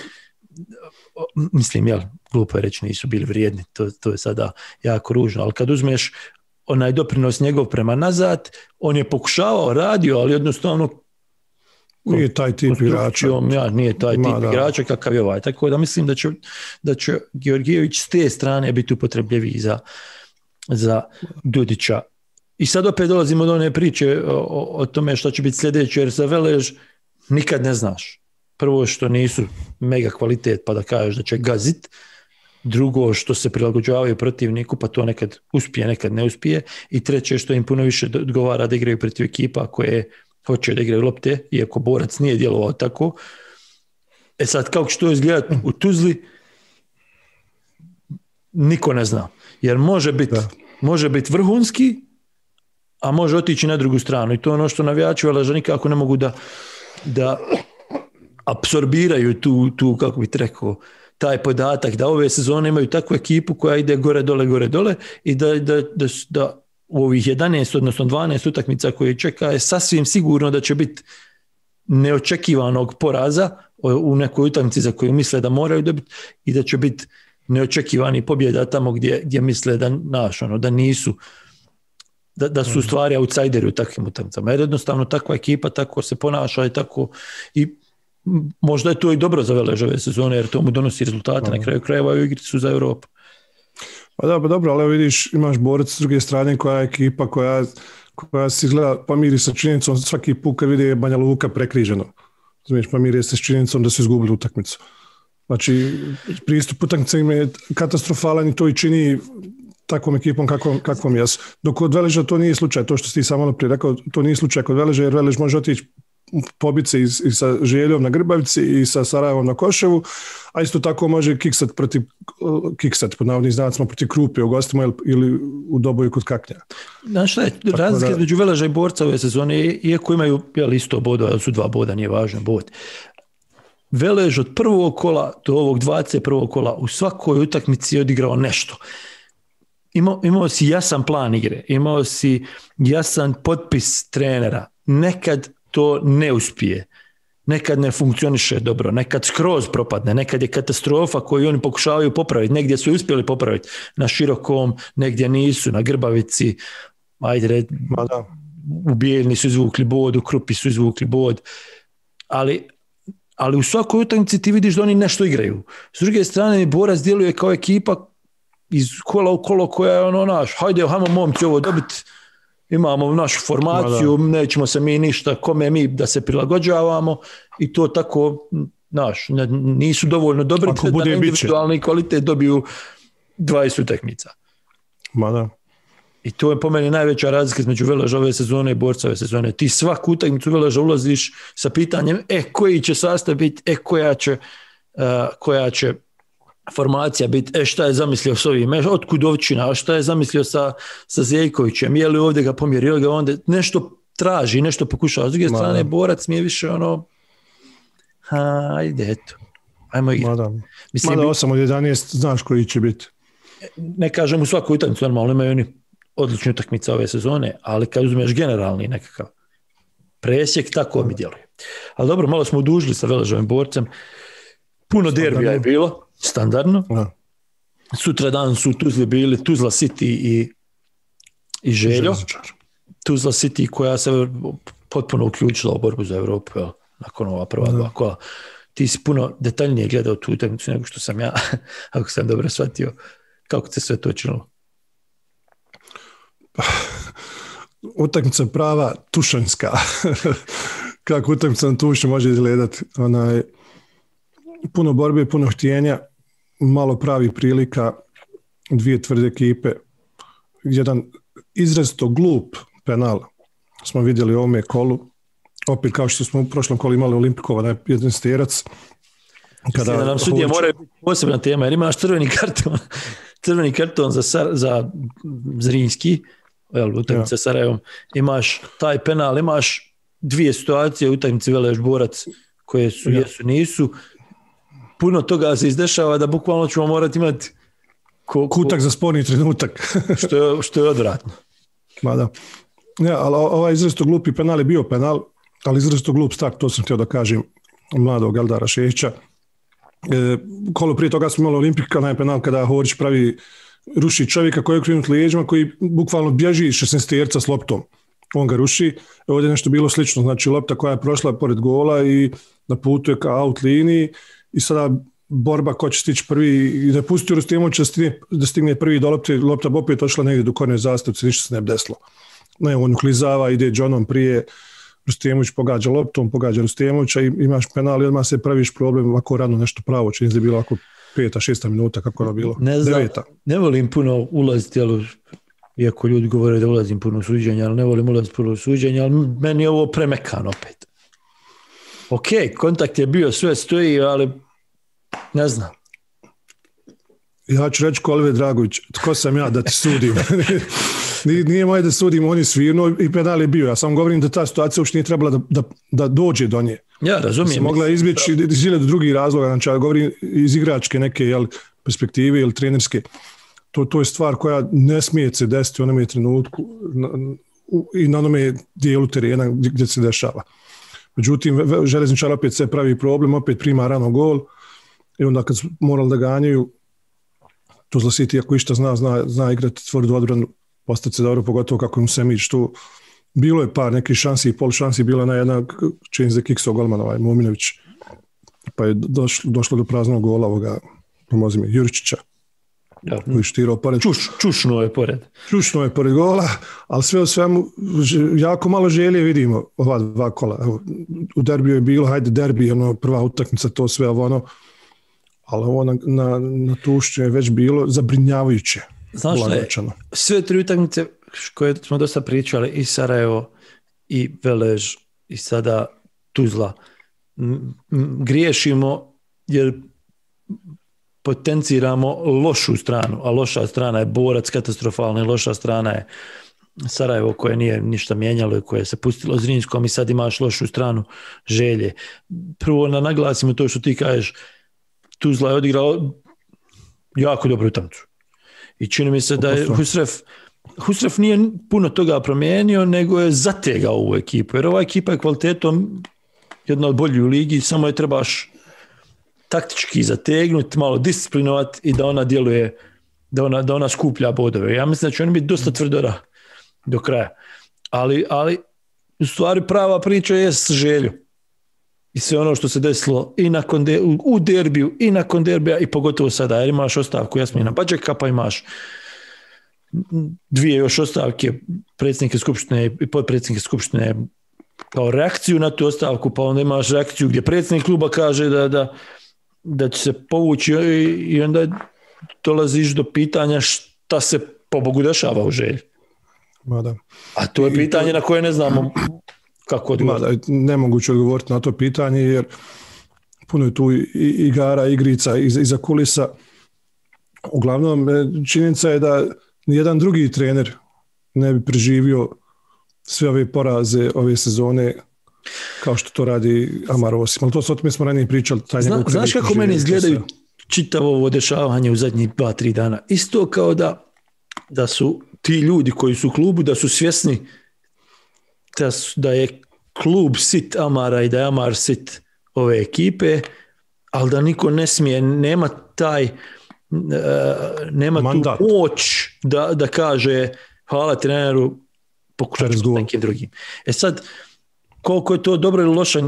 mislim, jel, glupo je reći, nisu bili vrijedni, to, to je sada jako ružno, ali kad uzmeš onaj doprinos njegov prema nazad, on je pokušavao, radio, ali jednostavno nije taj tip igrača. Ja, nije taj tip Ma, igrača kakav je ovaj, tako da mislim da će, da će Georgijević s te strane biti upotrebljiviji za za Dudića. I sad opet dolazimo do one priče o, o, o tome što će biti sljedeće, jer za Velež nikad ne znaš. Prvo što nisu mega kvalitet pa da kažeš da će gazit, drugo što se prilagođavaju protivniku pa to nekad uspije, nekad ne uspije i treće što im puno više odgovara da igraju protiv ekipa koje hoće da igraju lopte, iako Borac nije djelovao tako. E sad kako će to izgledati u Tuzli niko ne zna. Jer može biti može biti vrhunski, a može otići na drugu stranu. I to je ono što navijači Veleža nikako ne mogu da, da apsorbiraju tu, tu, kako bih rekao, taj podatak da ove sezone imaju takvu ekipu koja ide gore, dole, gore, dole i da, da, da, da u ovih jedanaest, odnosno dvanaest utakmica koje čeka je sasvim sigurno da će biti neočekivanog poraza u nekoj utakmici za koju misle da moraju dobiti i da će biti neočekivani pobjeda tamo gdje, gdje misle da, naš, ono, da nisu, da, da su stvari outsideri u takvim utakmicama. Jer jednostavno takva ekipa tako se ponaša i tako i možda je to i dobro za Velež ove sezone jer to mu donosi rezultate na kraju krajeva i igri su za Europu. Pa da, pa dobro, ali vidiš, imaš Borac s druge strane koja je ekipa koja, koja se izgleda pomiri sa činjenicom svaki put kad vidi Banja Luka prekriženo. Znači, pomiri se s činjenicom da su izgubili utakmicu. Znači, pristup utakmicama je katastrofalan i to i čini takvom ekipom kakvom, kakvom jesu. Dok kod Veleža to nije slučaj, to što si ti samo prije rekao, to nije slučaj kod Veleža, jer Velež može otići pobiti se i, i sa Željom na Grbavici i sa Sarajevom na Koševu, a isto tako može kiksat protiv, kiksat pod navodnim znacima protiv Krupe u gostima ili, ili u Doboju kod Kaknja. Znaš šta je, razlika između Veleža i Borca ove sezone, iako imaju jel, isto boda, ali su dva boda, nije važno bod. Velež od prvog kola do ovog dvadeset prvog kola u svakoj utakmici je odigrao nešto. Imao, imao si jasan plan igre, imao si jasan potpis trenera. Nekad to ne uspije, nekad ne funkcioniše dobro, nekad skroz propadne, nekad je katastrofa koju oni pokušavaju popraviti. Negdje su uspjeli popraviti, na Širokom, negdje nisu, na Grbavici, ajde red, u Bijeljni su izvukli bod, u Krupi su izvukli bod, ali ali u svakoj utakmici ti vidiš da oni nešto igraju. S druge strane, Borac djeluje kao ekipa iz kola u kolo koja je ono naš, hajde, hajmo momci ovo dobiti, imamo našu formaciju, nećemo se mi ništa, kome mi da se prilagođavamo i to tako Znaš, ne, nisu dovoljno dobri da na individualni kvalitet dobiju dvadeset utakmica. Ma da. I to je po meni najveća razlika između Veleža ove sezone i Borca ove sezone. Ti svaku utakmicu Veleža ulaziš sa pitanjem e, koji će sastav biti, e, koja će, uh, koja će formacija biti, e, šta je zamislio s ovim, e, od Kudovčina, šta je zamislio sa, sa Zeljkovićem, je li ovdje ga pomjerio, ga onda nešto traži, nešto pokušava. S druge strane, Borac mi je više ono, ajde, eto, ajmo igrati. Mada, Mislim, Mada osam od jedanaest znaš koji će biti. Ne kažem u svaku utakmicu, normalno imaju oni odlične utakmice ove sezone, ali kad uzmeš generalni nekakav presjek, tako mi djeluje. Ali dobro, malo smo udužili sa Veležovim Borcem. Puno derbija je bilo, standardno. Ja. Sutra dan su Tuzli bili Tuzla City i, i Željo. Tuzla City koja se potpuno uključila u borbu za Evropu, jel, nakon ova prva dva kola. Ti si puno detaljnije gledao tu utakmicu nego što sam ja, ako sam dobro shvatio. Kako se sve to činilo? Utakmica prava tušanjska. Kako utakmica na tušnju može izgledati. Onaj, puno borbe, puno htjenja, malo pravi prilika, dvije tvrde ekipe. Jedan izrazito glup penal smo vidjeli u ovome kolu. Opet kao što smo u prošlom kolu imali Olimpikova, na jedan sterac. Kada da nam sudije hoće... mora biti posebna tema, jer imaš crveni karton, crveni karton za, Sar, za Zrinjski, utakmica ja. Sarajevom, imaš taj penal, imaš dvije situacije u utakmici Velež Borac koje su, ja. jesu, nisu. Puno toga se izdešava da bukvalno ćemo morati imati ko, ko, kutak za sporni trenutak. što, je, što je odvratno. Ma da. Ja, ali ovaj izrazito glupi penal je bio penal, ali izrazito glup start, to sam htio da kažem, mladog Eldara Šehića. E, kolo prije toga smo imali Olimpika, onaj penal kada Horić pravi, ruši čovjeka koji je okrenut lijeđima, koji bukvalno bježi iz šesnaesterca s loptom. On ga ruši. Ovdje je nešto bilo slično, znači lopta koja je prošla pored gola i na putu je ka out liniji i sada borba ko će stići prvi i da pusti Rustemovića da stigne, da stigne prvi do lopte, lopta bi opet ošla negdje do korne zastavce, ništa se ne bi desilo. Ne, on uklizava, ide Johnom prije, Rustemović pogađa loptom, pogađa Rustemovića i imaš penal i odmah se praviš problem ovako rano nešto pravo, čini se bilo ovako peta, šesta minuta, kako je bilo, ne znam, deveta. Ne volim puno ulaziti, ali, iako ljudi govore da ulazim puno u suđenja, ali ne volim ulaziti puno u suđenja, ali meni je ovo premekan opet. Ok, kontakt je bio, sve stoji, ali ne znam. Ja ću reći ko Oliver Dragović, tko sam ja da ti sudim? Nije moje da sudim, on je svirno i penal je bio. Ja sam govorim da ta situacija uopšte nije trebala da, da, da dođe do nje. Ja razumijem. Se mogla izbjeći iz hiljadu drugih razloga, znači ja govorim iz igračke neke jel, perspektive ili trenerske. To, to je stvar koja ne smije se desiti u onome trenutku na, u, i na onome dijelu terena gdje, gdje se dešava. Međutim, Željezničar opet se pravi problem, opet prima rano gol i onda kad su morali da ganjaju, Tuzla City ako išta zna, zna, zna igrati tvrdu odbranu, postati se dobro, pogotovo kako im Semić tu. Bilo je par nekih šansi i pol šansi, bila na jedna čini za Kikso golman, ovaj Mominović, pa je došlo, došlo do praznog gola ovoga, pomozi mi, Juričića. Ja. Koji štirao pored. Čuš, čušno je pored. Čušno je pored gola, ali sve u svemu jako malo želje vidimo ova dva kola. Evo, u derbiju je bilo, hajde derbi, ono, prva utakmica, to sve ovo ono, ali ovo na, na, na Tušću je već bilo zabrinjavajuće. Znaš li, sve tri utakmice koje smo dosta pričali, i Sarajevo, i Velež, i sada Tuzla, m- m- griješimo jer potenciramo lošu stranu, a loša strana je Borac katastrofalna i loša strana je Sarajevo koje nije ništa mijenjalo i koje se pustilo Zrinjskom i sad imaš lošu stranu Želje. Prvo na naglasimo to što ti kažeš, Tuzla je odigrala jako dobru utakmicu. I čini mi se da je Husref, Husref nije puno toga promijenio, nego je zategao ovu ekipu. Jer ova ekipa je kvalitetom jedna od boljih u ligi, samo je trebaš taktički zategnuti, malo disciplinovati i da ona djeluje, da ona, da ona skuplja bodove. Ja mislim da će oni biti dosta tvrdora do kraja. Ali, ali u stvari prava priča je s Želju. I sve ono što se desilo i nakon de, u derbiju i nakon derbija i pogotovo sada, jer imaš ostavku Jasmina Bađeka, pa imaš dvije još ostavke predsjednike skupštine i podpredsjednike skupštine kao reakciju na tu ostavku, pa onda imaš reakciju gdje predsjednik kluba kaže da, da, da će se povući i, i onda dolaziš do pitanja šta se po Bogu dešava u Želji. Mada. A to je pitanje to... na koje ne znamo kako odgovoriti. Nemoguće odgovoriti na to pitanje jer puno je tu igara, igrica iza, iza kulisa. Uglavnom, činjenica je da nijedan drugi trener ne bi preživio sve ove poraze ove sezone kao što to radi Amar Osim. Ali to s o tome smo ranije pričali. Taj Zna, znaš kako meni izgledaju čitavo ovo dešavanje u zadnjih dva, tri dana? Isto kao da, da su ti ljudi koji su u klubu, da su svjesni da, su, da je klub sit Amara i da je Amar sit ove ekipe, ali da niko ne smije, nema taj Uh, nema mandat. Tu moć da, da kaže hvala treneru, pokušat ću s nekim drugim. E sad, koliko je to dobro ili loše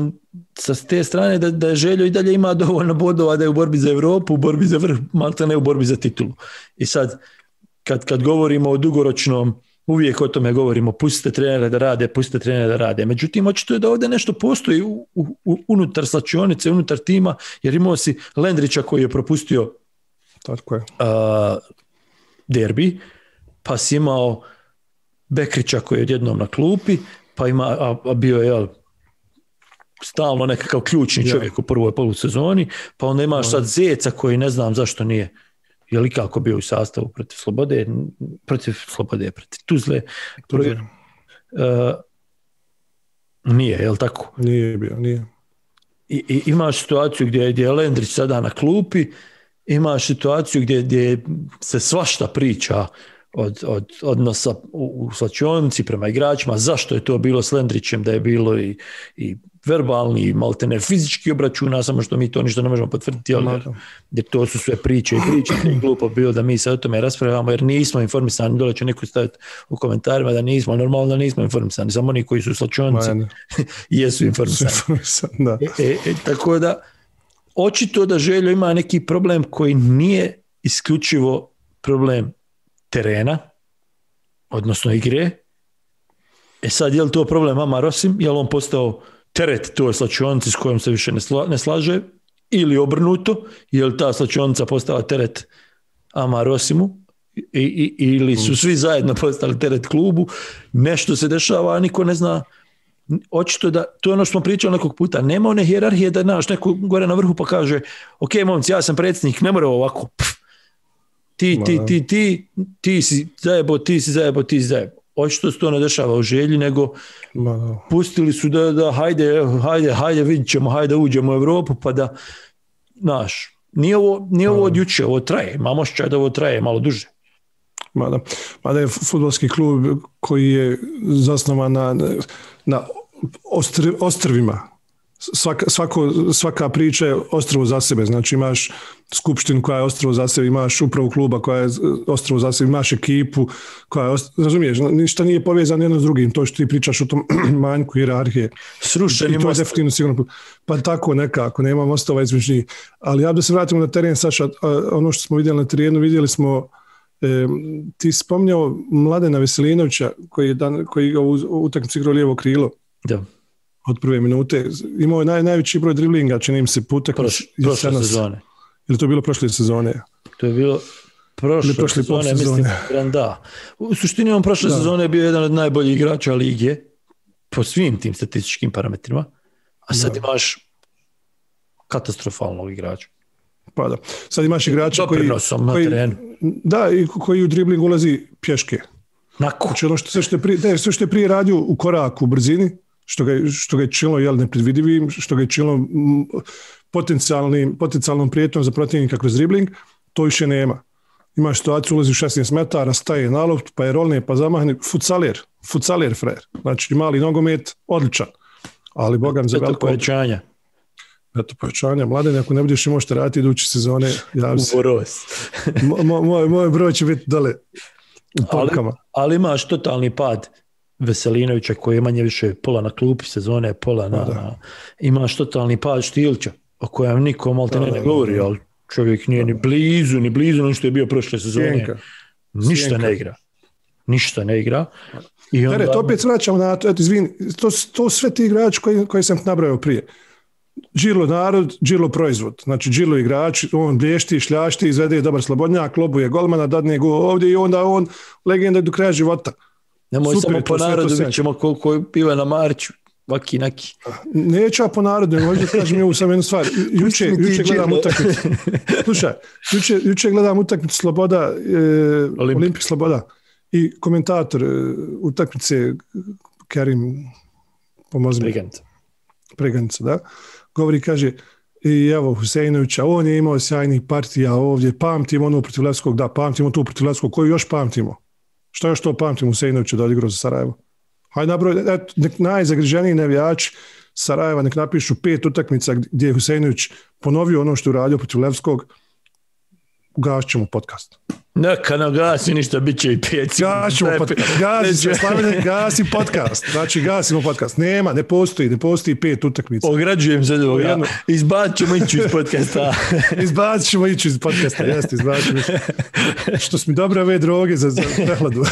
sa te strane da, da je Željo i dalje ima dovoljno bodova da je u borbi za Europu, u borbi za vrh, malta ne u borbi za titulu. I sad, kad, kad govorimo o dugoročnom, uvijek o tome govorimo, pustite trenere da rade, pustite trenere da rade. Međutim, očito je da ovdje nešto postoji u, u, unutar slačionice, unutar tima, jer imao si Lendrića koji je propustio Tako je. Uh, derbi, pa si imao Bekrića koji je odjednom na klupi, pa ima, a, a bio je jel, stalno nekakav ključni ja. čovjek u prvoj polusezoni, pa onda imaš sad Zeca koji ne znam zašto nije, je li kako bio u sastavu protiv Slobode, protiv Slobode, protiv Tuzle. Protiv, uh, nije, je li tako? Nije bio, nije. I, i imaš situaciju gdje, gdje je Lendrić sada na klupi, imaš situaciju gdje, gdje se svašta priča od, od odnosa u, u slačionici prema igračima, zašto je to bilo s Lendrićem, da je bilo i, i verbalni i maltene fizički obračuna, samo što mi to ništa ne možemo potvrditi, ali jer to su sve priče i priče, je glupo bilo da mi se o tome raspravljamo, jer nismo informisani, dole će neko staviti u komentarima da nismo, normalno da nismo informisani, samo oni koji su u slačionici jesu informisani. Da. E, e, e, tako da očito da Željo ima neki problem koji nije isključivo problem terena, odnosno igre. E sad, je li to problem Amar Osim? Je li on postao teret toj slačionici s kojom se više ne, sla, ne slaže? Ili obrnuto? Je li ta slačionica postala teret Amar Osimu? I, i, ili su svi zajedno postali teret klubu? Nešto se dešava, a niko ne zna. Očito da, to je ono što smo pričali nekog puta, nema one hijerarhije da naš neko gore na vrhu pa kaže ok, momci, ja sam predsjednik, ne mora ovako. Pff. Ti, ti, ti, ti, ti si zajebo, ti si zajebo, ti si zajebo. Očito se to ne dešava u Želji, nego pustili su da, da hajde, hajde, hajde, vidit ćemo, hajde uđemo u Europu, pa da, znaš, nije ovo, nije ovo od juče, ovo traje, imamo ošćaj da ovo traje malo duže. Mada, mada je fudbalski klub koji je zasnovan na, na ostr, ostrvima. Svaka, svako, svaka priča je ostrvo za sebe. Znači imaš skupštinu koja je ostrvo za sebe, imaš upravu kluba koja je ostrvo za sebe, imaš ekipu koja je ostrvo, razumiješ, ništa nije povezano jedno s drugim, to što ti pričaš o tom manjku hijerarhije. Srušeni most. To je definitivno sigurno. Pa tako nekako, nema mostova između njih. Ali ja da se vratimo na teren, Saša, ono što smo vidjeli na terenu, vidjeli smo E, ti spomnjao Mladena Veselinovića koji je dan, koji ga u utakmici igrao lijevo krilo. Da. Od prve minute. Imao je naj, najveći broj driblinga, čini im se putak. Proš, prošle sezone. Ili to bilo prošle sezone? To je bilo prošle prošle sezone, sezone, mislim, da. U suštini on prošle da. sezone je bio jedan od najboljih igrača lige po svim tim statističkim parametrima, a sad da. imaš katastrofalnog igrača. Pa da. Sad imaš igrača koji, koji, da, i koji u dribling ulazi pješke. Nako. Znači ono što, sve, što je prije, ne, sve što je prije radio u koraku, u brzini, što ga, što ga je činilo jel, nepredvidivim, što ga je činilo potencijalnim, potencijalnom prijetnom za protivnika kroz dribling, to više nema. Imaš situaciju, ulazi u šesnaest metara, staje na loft, pa je rolne, pa zamahne, futsaler, futsaler frajer. Znači mali nogomet, odličan. Ali bogam za veliko... povećanja. Eto, povećanja. Mladen, ako ne budeš imao šta raditi iduće sezone, javi se. U Boros. mo, moj, moj broj će biti dole u polkama. Ali, ali imaš totalni pad Veselinovića koji je manje više pola na klupi sezone, pola na... na imaš totalni pad Štilića, o kojem niko malte ne, ne govori, ali čovjek nije da, ni blizu, ni blizu ono što je bio prošle sezone. Sjenka. Ništa Sjenka. ne igra. ništa ne igra. I onda... Tere, to opet vraćamo na to, eto, izvini, to, to sve ti igrači koji, koji sam nabrao prije. Džilo narod, Džilo proizvod. Znači Džilo igrač, on blješti, šljašti, izvede dobar slobodnjak, lobuje golmana, dadne go ovdje i onda on legenda do kraja života. Nemoj super, samo po narodu, vidjet ćemo koliko je piva na Mariću, vaki neki. Neću ja po narodu, možda kažem je ovu sam jednu stvar. Juče, juče gledam utakmicu. Slušaj, juče, juče gledam utakmicu Sloboda, e, Olimpik. Olimpik Sloboda i komentator e, utakmice Kerim pomozi mi. Preganica, da. Govori, kaže, i evo Huseinovića, on je imao sjajnih partija ovdje, pamtimo ono protiv Levskog, da, pamtimo tu protiv Levskog, koju još pamtimo? Što još to pamtimo Huseinovića da odigrao za Sarajevo? Hajde nabroj, eto, nek najzagriženiji navijači Sarajeva nek napišu pet utakmica gdje je Huseinović ponovio ono što je uradio protiv Levskog, ugasit ćemo podcast. Neka nam gasi ništa, bit će i pet. Gašimo podcast. Gasi, Slavine, gasi podcast. Znači, gasimo podcast. Nema, ne postoji, ne postoji pet utakmica. Ograđujem se do ovoga. Izbacit ćemo ići iz podcasta. Izbacit ćemo ići iz podcasta, jeste, izbacit ćemo ići. Što su mi dobre ove droge za, za prehladu.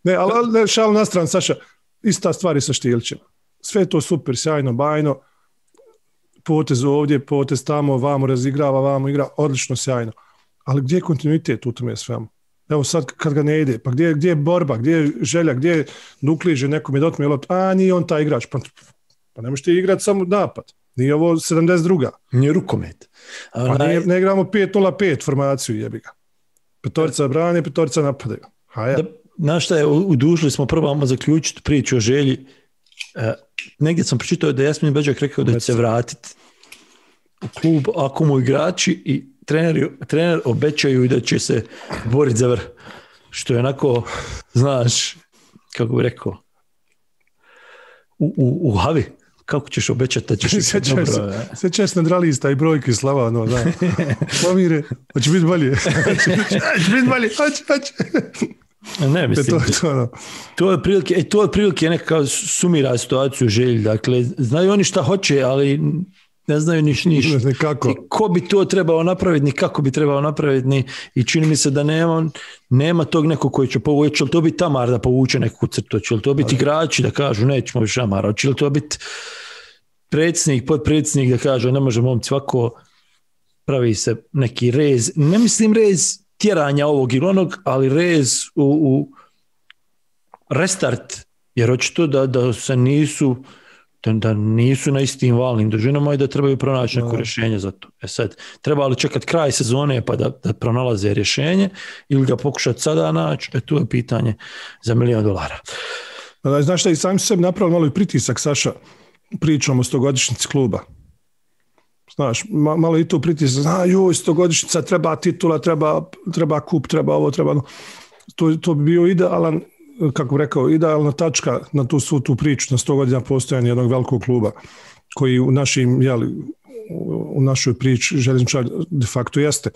Ne, ali, ali šalu na stranu, Saša, ista stvar je sa Štilićem. Sve to super, sjajno, bajno. Potez ovdje, potez tamo, vamo razigrava, vamo igra, odlično, sjajno. Ali gdje je kontinuitet u tome svemu? Evo sad kad ga ne ide, pa gdje, gdje je borba, gdje je želja, gdje je dukliže nekom je dotme, a nije on taj igrač, pa, pa ne možete igrati samo napad. Nije ovo sedamdeset druga. Nije rukomet. Pa naj... nije, ne igramo pet nula pet formaciju, jebi ga. Petorica brane, petorica napadaju. Haja. Da, znaš šta je, udužili smo prvo zaključiti priču o želji. E, negdje sam pročitao da Jasmin Beđak rekao da će se vratiti u klub ako mu igrači i treneri, trener obećaju da će se boriti za vrh. Što je onako, znaš, kako bi rekao, u, u, u havi. Kako ćeš obećati da ćeš se dobro? Sve česne dralista i brojke slava, no, da. Slavire, hoće biti bolje. Hoće biti bolje, hoće, hoće. Ne, mislim, to, to, no. to je prilike, e, to je prilike neka sumira situaciju želji. Dakle, znaju oni šta hoće, ali ne znaju niš niš. Kako? Ko bi to trebao napraviti, ni kako bi trebao napraviti, ni, i čini mi se da nema, nema tog nekog koji će povući. Će li to biti Tamar da povuče neku crtu? Će li to biti igrači da kažu nećemo više Amara? Će li to biti predsjednik, podpredsjednik da kaže ne može momci ovako, pravi se neki rez. Ne mislim rez tjeranja ovog ili onog, ali rez u, u restart, jer očito da, da se nisu da, da nisu na istim valnim dužinama i da trebaju pronaći neko rješenje za to. E sad, treba li čekati kraj sezone pa da, da pronalaze rješenje ili ga pokušati sada naći, e tu je pitanje za milijon dolara. Znaš šta, i sami su sebi napravili malo i pritisak, Saša, pričamo o stogodišnjici kluba. Znaš, malo i tu pritisak, zna, joj, stogodišnjica, treba titula, treba, treba kup, treba ovo, treba ono. To, to bi bio idealan, kako bih rekao, idealna tačka na tu svu tu priču, na sto godina postojanja jednog velikog kluba, koji u našim, jeli, u našoj priči željezničar de facto jeste.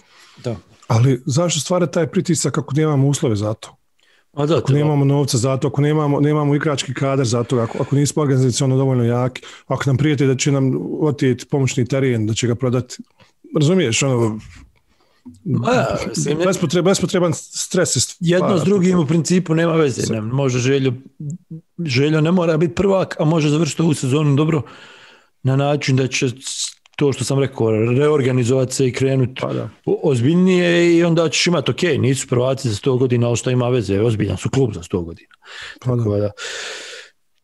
Da. Ali zašto stvara taj pritisak ako nemamo uslove za to? A da, ako nemamo novca za to, ako nemamo, nemamo igrački kadar za to, ako, ako nismo organizacionalno dovoljno jaki, ako nam prijeti da će nam otijeti pomoćni teren, da će ga prodati, razumiješ, ono, A, bespotreban, bespotreban stres. Jedno s drugim u principu nema veze. Ne, može Željo, Željo ne mora biti prvak, a može završiti ovu sezonu dobro na način da će to što sam rekao, reorganizovati se i krenuti pa ozbiljnije i onda ćeš imati, ok, nisu prvaci za sto godina, ali što ima veze, ozbiljan su klub za sto godina. Pa da. Da.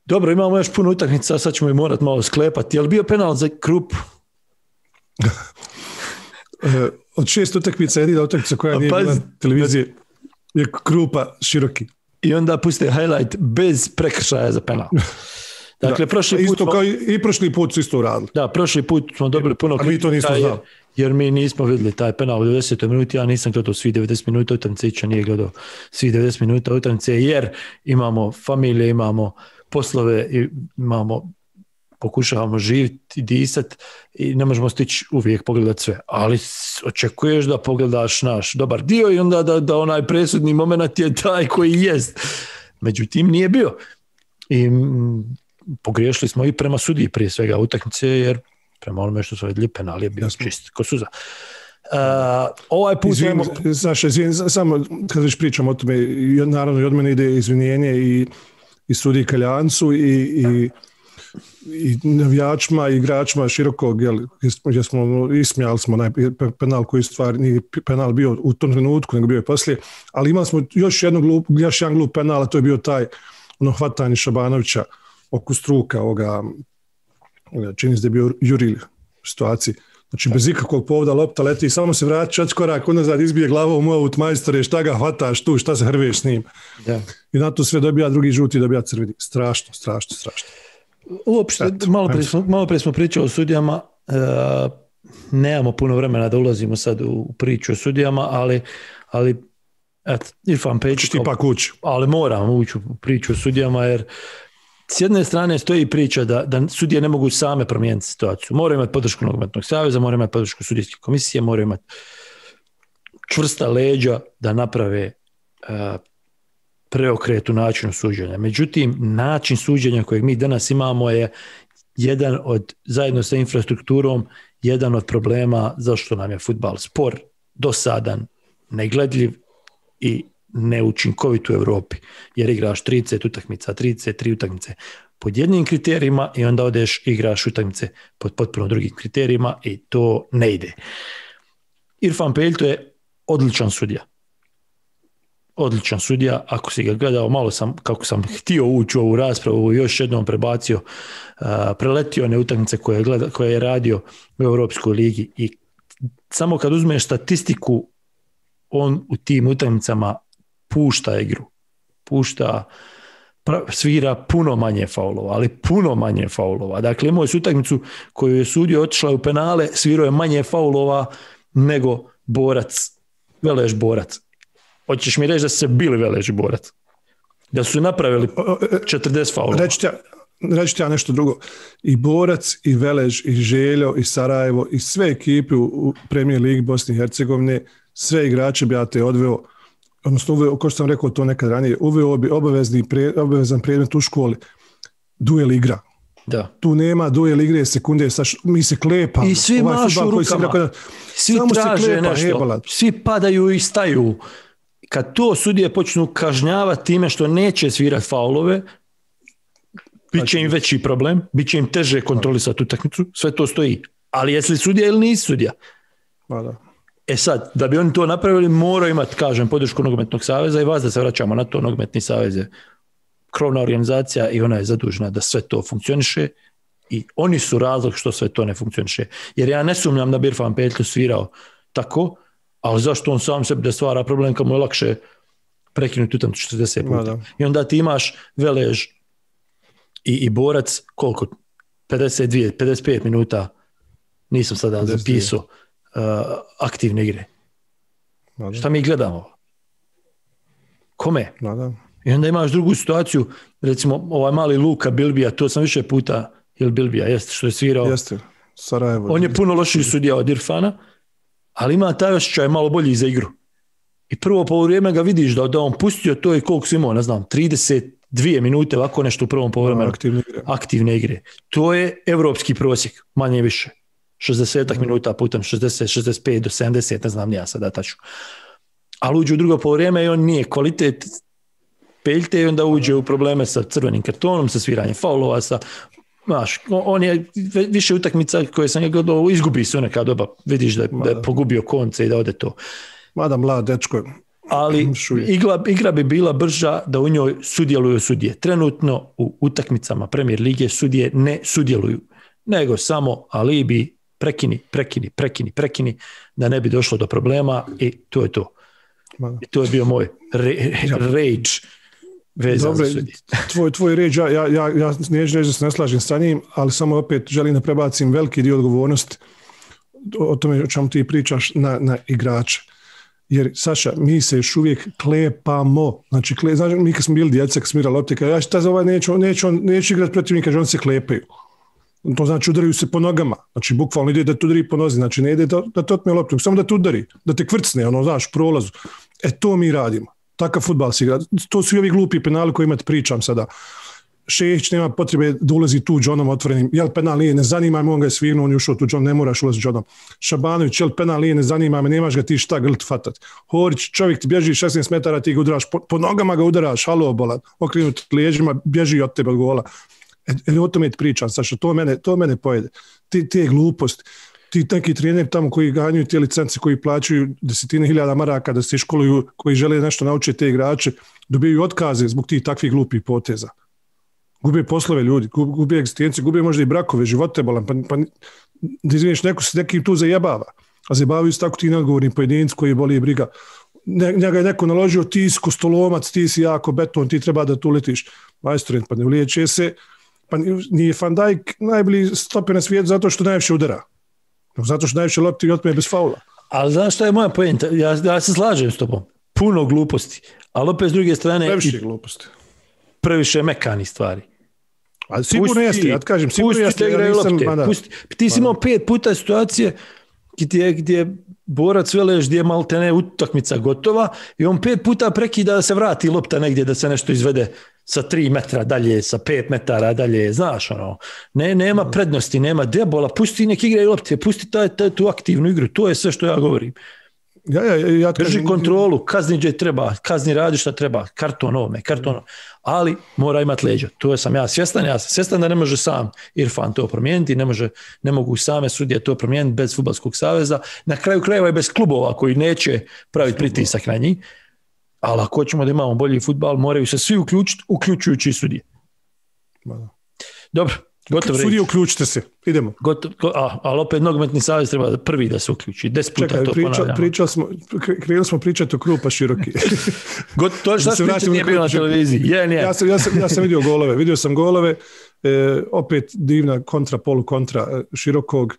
Dobro, imamo još puno utakmica, sad ćemo i morati malo sklepati. Je li bio penal za Krup? Od šest utakmica, jedina utakmica koja nije bila na televiziji je Krupa široki. I onda puste highlight bez prekršaja za penal. Dakle, da, prošli put isto smo, kao i, i prošli put su isto uradili. Da, prošli put smo dobili puno kritika. A mi to nismo znali. Jer mi nismo vidjeli taj penal u devedesetoj minuti, ja nisam gledao svi devedeset minuta utakmice, Ića nije gledao svi devedeset minuta utakmice, jer imamo familije, imamo poslove, imamo, pokušavamo živjeti i disati i ne možemo stići uvijek pogledati sve. Ali očekuješ da pogledaš naš dobar dio i onda da, da onaj presudni moment je taj koji jest. Međutim, nije bio. I m, pogriješili smo i prema sudiji prije svega utakmice, jer prema onome što su vidjeli penal je bio čist ko suza. Uh, ovaj put... Izvin, imamo... Znaš, izvin, samo kad već pričam o tome, naravno i od mene ide izvinjenje i, i sudiji Kaljancu i, i, i navijačima i igračima širokog, jel, gdje smo ismijali smo onaj penal koji stvar nije penal bio u tom trenutku, nego bio je poslije, ali imali smo još, jednu glup, još jedan glup penal, a to je bio taj ono hvatanje Šabanovića oko struka, ovoga, čini se da je bio Juril u situaciji. Znači, bez ikakvog povoda lopta leti i samo se vrati četiri korak unazad, izbije glavom u aut, majstore, šta ga hvataš tu, šta se hrveš s njim. Da. I na to sve dobija drugi žuti, dobija crveni. Strašno, strašno, strašno. Uopšte, malo prije smo, malo prije smo pričali o sudijama, e, nemamo puno vremena da ulazimo sad u priču o sudijama, ali, ali et, Irfan Pejić... Ti pa kući. Ali moram ući u priču o sudijama, jer s jedne strane stoji priča da, da sudije ne mogu same promijeniti situaciju. Moraju imati podršku nogometnog saveza, moraju imati podršku sudijske komisije, moraju imati čvrsta leđa da naprave uh, preokret u načinu suđenja. Međutim, način suđenja kojeg mi danas imamo je jedan od, zajedno sa infrastrukturom, jedan od problema zašto nam je fudbal spor, dosadan, negledljiv i neučinkovit u Europi, jer igraš trideset utakmica, trideset tri utakmice pod jednim kriterijima i onda odeš igraš utakmice pod potpuno drugim kriterijima i to ne ide. Irfan Pejić je odličan sudija. Odličan sudija, ako si ga gledao, malo sam, kako sam htio ući u ovu raspravu, još jednom prebacio, uh, preletio one utakmice koje je, gleda, koje je radio u Europskoj ligi i samo kad uzmeš statistiku, on u tim utakmicama pušta igru, pušta, svira puno manje faulova, ali puno manje faulova. Dakle, imao je utakmicu koju je sudio, otišla u penale, svirao je manje faulova nego Borac, Veleš Borac. Hoćeš mi reći da su se bili Veleš i Borac? Da su napravili četrdeset faulova? Reći ja, reći ja nešto drugo. I Borac, i Veleš, i Željo, i Sarajevo, i sve ekipe u Premier Ligi Bosne i Hercegovine, sve igrače bi ja te odveo, odnosno uveo, kao što sam rekao to nekad ranije, uveo bi obavezni pre, obavezan predmet u školi, duel igra. Da. Tu nema duel igre sekunde, saš, mi se klepamo. I svi ovaj mašu u rukama, rekao, svi traže klepa, nešto, jebala. Svi padaju i staju. Kad to sudije počnu kažnjavati time što neće svirati faulove, bit će im veći problem, bit će im teže kontrolisati utakmicu, sve to stoji. Ali jesi li sudija ili nisi sudija? Pa da. E sad, da bi oni to napravili, moraju imati, kažem, podršku Nogometnog saveza i vas da se vraćamo na to. Nogometni savez je krovna organizacija i ona je zadužena da sve to funkcioniše i oni su razlog što sve to ne funkcioniše. Jer ja ne sumnjam da bi Irfan Pejić svirao tako, ali zašto on sam sebi da stvara problem kad mu je lakše prekinuti utakmicu četrdeset puta. I onda ti imaš Velež i, i Borac, koliko? pedeset dva, pedeset pet minuta, nisam sada zapisao, uh, aktivne igre. Mada. Šta mi gledamo? Kome? Mada. I onda imaš drugu situaciju, recimo ovaj mali Luka Bilbija, to sam više puta, ili Bilbija, jeste, što je svirao. Jeste, Sarajevo. On je puno lošiji sudija od Irfana, ali ima taj osjećaj malo bolji za igru. I prvo poluvreme ga vidiš da, da on pustio to i koliko su imao, ne znam, trideset dvije minute, ovako nešto u prvom poluvremenu. Aktivne igre. Aktivne igre. To je evropski prosjek, manje više. šezdeset mm. minuta putem šezdeset, šezdeset pet do sedamdeset, ne znam, nija sada tačno. Ali uđe u drugo poluvreme i on nije kvalitet Peljte i onda uđe u probleme sa crvenim kartonom, sa sviranjem faulova, sa, znaš, on je više utakmica koje sam je gledao, izgubi se neka doba, vidiš da je, da je pogubio konce i da ode to. Mada mlad dečko. Ali igra, igra bi bila brža da u njoj sudjeluju sudije. Trenutno u utakmicama Premier lige sudije ne sudjeluju, nego samo alibi, prekini, prekini, prekini, prekini, da ne bi došlo do problema i to je to. Mada. I to je bio moj re, rage vezan za sudije. Tvoj, tvoj rage, ja, ja, ja, ja neću reći da se ne slažem sa njim, ali samo opet želim da prebacim veliki dio odgovornosti o tome o čemu ti pričaš na, na igrače. Jer, Saša, mi se još uvijek klepamo. Znači, kle, znači mi kad smo bili djeca, kad smo igrali lopte, ja šta za ovaj neću, neću, neću igrati protiv njih, kaže on se klepaju. To znači udaraju se po nogama. Znači, bukvalno ide da te udari po nozi. Znači, ne ide da, da te otme loptu, samo da te udari, da te kvrcne, ono, znaš, prolazu. E, to mi radimo. Takav fudbal se igra. To su i ovi glupi penali koji imate pričam sada. Šehić nema potrebe da ulazi tu džonom otvorenim. Jel penal nije, ne zanima me, on ga je svirnuo, on je ušao tu džon, ne moraš ulaziti džonom. Šabanović, jel penal nije, ne zanima me, nemaš ga ti šta glt fatat. Horić, čovjek ti bježi šesnaest metara, ti ga udaraš, po, po nogama ga udaraš, halo bolan, okrenut liježima, bježi od tebe od gola. E, e, o tome ti pričam, Saša, to mene, to mene pojede. Ti, ti je glupost. Ti neki treneri tamo koji ganjuju te licence, koji plaćaju desetine hiljada maraka da se školuju, koji žele nešto naučiti te igrače, dobiju otkaze zbog tih takvih glupih poteza. Gube poslove ljudi, gube egzistenciju, gube možda i brakove, živote bolan, pa, pa da izviniš, neko se nekim tu zajebava, a zajebavaju se tako ti neodgovorni pojedinci koji boli i briga. Ne, njega je neko naložio, ti si kostolomac, ti si jako beton, ti treba da tu letiš. Majstor, pa ne uliječe se, pa nije Van Dijk najbolji stoper na svijetu zato što najviše udara. Zato što najviše lopti i otme bez faula. Ali znaš šta je moja pojenta? Ja, ja se slažem s tobom. Puno gluposti. Ali opet s druge strane... Previše gluposti. Previše mekani stvari. A sigurno jeste, ja ti kažem, sigurno jeste. Ja nisam, pusti, ti si imao pet puta situacije gdje, gdje borac veleš, gdje je maltene utakmica gotova i on pet puta prekida da se vrati lopta negdje, da se nešto izvede sa tri metra dalje, sa pet metara dalje, znaš ono, ne, nema prednosti, nema debola, pusti nek igra i lopte, pusti taj, taj, tu aktivnu igru, to je sve što ja govorim. Ja, ja, ja Drži kažem, kontrolu, kazni gdje treba, kazni radi šta treba, karton ovome, karton ovome, ali mora imati leđa, to sam ja svjestan, ja sam svjestan da ne može sam Irfan to promijeniti, ne, može, ne mogu same sudije to promijeniti bez Fudbalskog saveza, na kraju krajeva je bez klubova koji neće praviti pritisak na njih, ali ako ćemo da imamo bolji fudbal, moraju se svi uključiti, uključujući i sudije. Dobro, gotovo reći. Sudije, uključite se, idemo. Gotov, a, ali opet nogometni savez treba prvi da se uključi. Deset puta Čekaj, to priča, ponavljamo. Pričali smo, krenuli smo pričati o Krupa Široki. Got, to što se pričati nije bilo na televiziji. Je, nije. Ja sam, ja, sam, ja sam vidio golove. Vidio sam golove. E, opet divna kontra, polu kontra Širokog.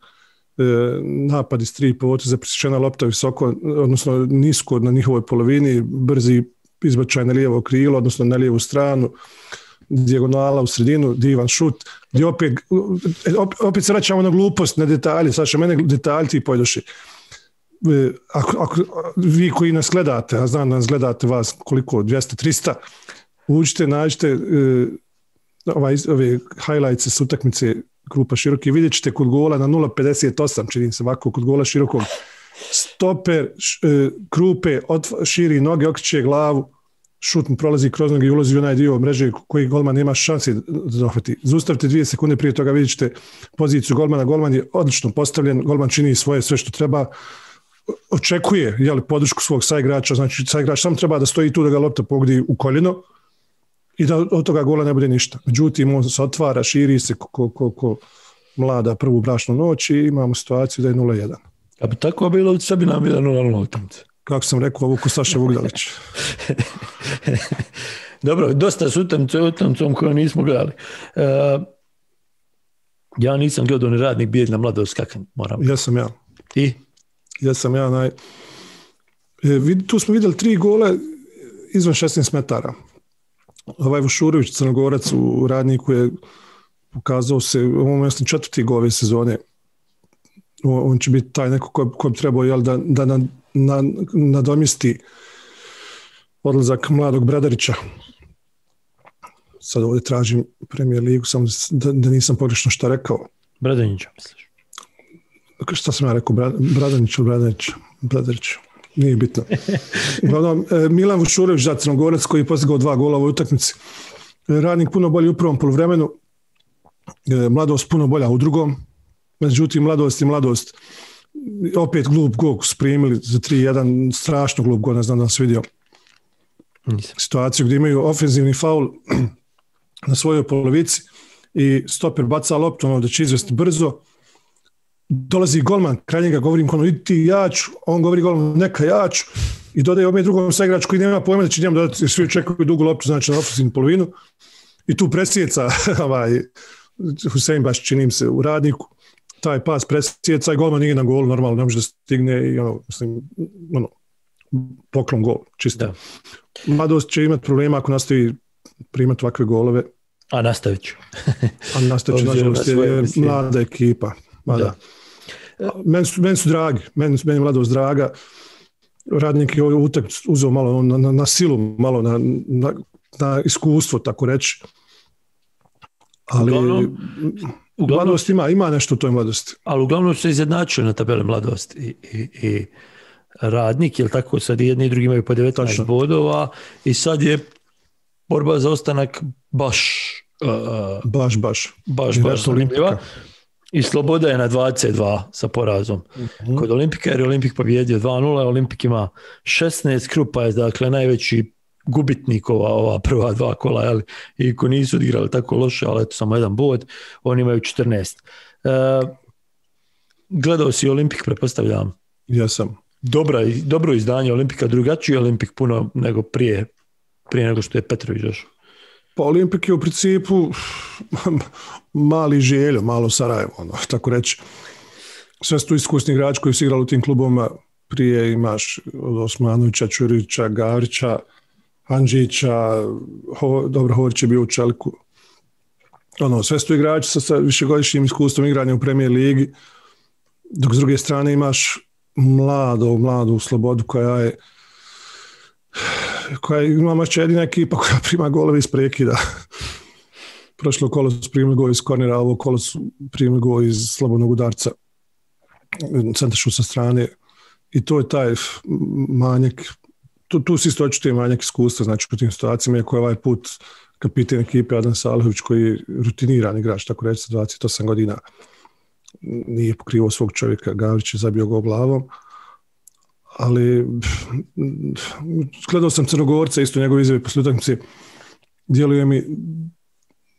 E, napad iz tri poteza, presječena lopta visoko, odnosno nisko na njihovoj polovini, brzi izbačaj na lijevo krilo, odnosno na lijevu stranu, dijagonala u sredinu, divan šut, gdje opet, opet se vraćamo na glupost, na detalje, Saša, mene detalji ti pojedoši. Ako, ako vi koji nas gledate, a znam da nas gledate vas koliko, dvjesto trista, uđite, nađite ovaj, ove highlights s utakmice Krupa Široki, vidjet ćete kod gola na nula pedeset osam, čini se ovako, kod gola Širokog, stoper Krupe otv- širi noge, okreće glavu, šut mu prolazi kroz noge i ulazi u onaj dio mreže koji golman nema šanse da dohvati. Zaustavite dvije sekunde prije toga, vidjet ćete poziciju golmana, golman je odlično postavljen, golman čini svoje sve što treba, očekuje jeli, podršku svog saigrača, znači saigrač samo treba da stoji tu da ga lopta pogodi u koljeno i da od toga gola ne bude ništa. Međutim, on se otvara, širi se ko, ko, ko mlada prvu brašnu noć i imamo situaciju da je nula jedan. A bi tako bilo, sve bi nam bila nula nula utakmica. Kako sam rekao, ovo ko Saša Vugdalić. Dobro, dosta s utakmicom koju nismo gledali. Uh, ja nisam gledao ni radnik bijedna mladost kakva moram. Ja sam ja. I? Ja sam ja naj... E, tu smo vidjeli tri gola izvan šesnaest metara. Ovaj Vušurović, Crnogorac u radniku je pokazao se, ovo je četvrti gol ove sezone. On će biti taj neko ko, ko bi trebao jel, da, da na, na, nadomjesti odlazak mladog Bradarića. Sad ovdje tražim Premier Ligu, samo da, da nisam pogrešno šta rekao. Bradanića, misliš? Šta sam ja rekao? Bradanić ili Bradanić? Bradarić. Nije bitno. Uglavnom, Milan Vušurović, da, Crnogorac, koji je postigao dva gola u ovoj utakmici. Radnik puno bolji u prvom poluvremenu. Mladost puno bolja u drugom. Međutim, mladost i mladost. Opet glup gol su primili za tri jedan. Strašno glup gol, ne znam da vas vidio. Nisam. Situaciju gdje imaju ofenzivni faul na svojoj polovici i stoper baca loptu, ono da će izvesti brzo. Dolazi golman, kraj njega govorim ono, idi ti ja ću, on govori golman, neka ja ću i dodaje ovdje drugom saigrač koji nema pojma da će njemu dodati, svi očekuju dugu loptu, znači na ofenzivnu polovinu i tu presjeca ovaj, Husein baš činim se u radniku, taj pas presjeca i golman nije na gol, normalno ne može da stigne i ono, mislim, ono, poklon gol, čisto. Da. Mladost će imati problema ako nastavi primati ovakve golove. A nastavit ću. A nastavit ću, nažalost, je mlada ekipa. Mada. Meni su, meni su dragi, meni, meni je mladost draga. Radnik je ovaj utakmicu uzeo malo na, na, na silu, malo na, na, na iskustvo, tako reći. Ali uglavnom, mladost ima, ima nešto u toj mladosti. Ali uglavnom se izjednačio na tabeli mladost i, i, i Radnik, jel tako, sad i jedni i drugi imaju po devetnaest Tačno. bodova i sad je borba za ostanak baš uh, baš, baš. baš, baš zanimljiva. I Sloboda je na dvadeset dva sa porazom. Mm-hmm. Kod Olimpika jer je Olimpik pobjedio dva nula, Olimpik ima šesnaest, Krupa je dakle najveći gubitnik ova, ova prva dva kola, jel? I ko nisu odigrali tako loše, ali eto samo jedan bod, oni imaju četrnaest. Uh, gledao si Olimpik, pretpostavljam? Ja sam. Dobra, dobro izdanje Olimpika, drugačiji Olimpik puno nego prije, prije nego što je Petrović došao. Pa Olimpik je u principu mali Željo, malo Sarajevo, ono, tako reći. Sve su tu iskusni igrači koji su igrali u tim klubovima. Prije imaš od Osmanovića, Čurića, Gavrića, Andžića, Ho, dobro, Horić je bio u Čeliku. Ono, sve su tu igrači sa, sa višegodišnjim iskustvom igranja u Premier ligi, dok s druge strane imaš mladu, mladu Slobodu koja je koja ima mašće jedina ekipa koja prima golove iz prekida. Prošlo kolo su primili gol iz kornera, ovo kolo su primili gol iz slobodnog udarca, centaršu sa strane, i to je taj manjak, tu, tu si isto očito je manjak iskustva, znači u tim situacijama je koji ovaj put kapiten ekipe Adam Salihović, koji je rutiniran igrač, tako reći, sa dvadeset osam godina, nije pokrivao svog čovjeka, Gavrić je zabio gol glavom, ali gledao sam Crnogorca, isto njegove izjave posle utakmice, djeluje mi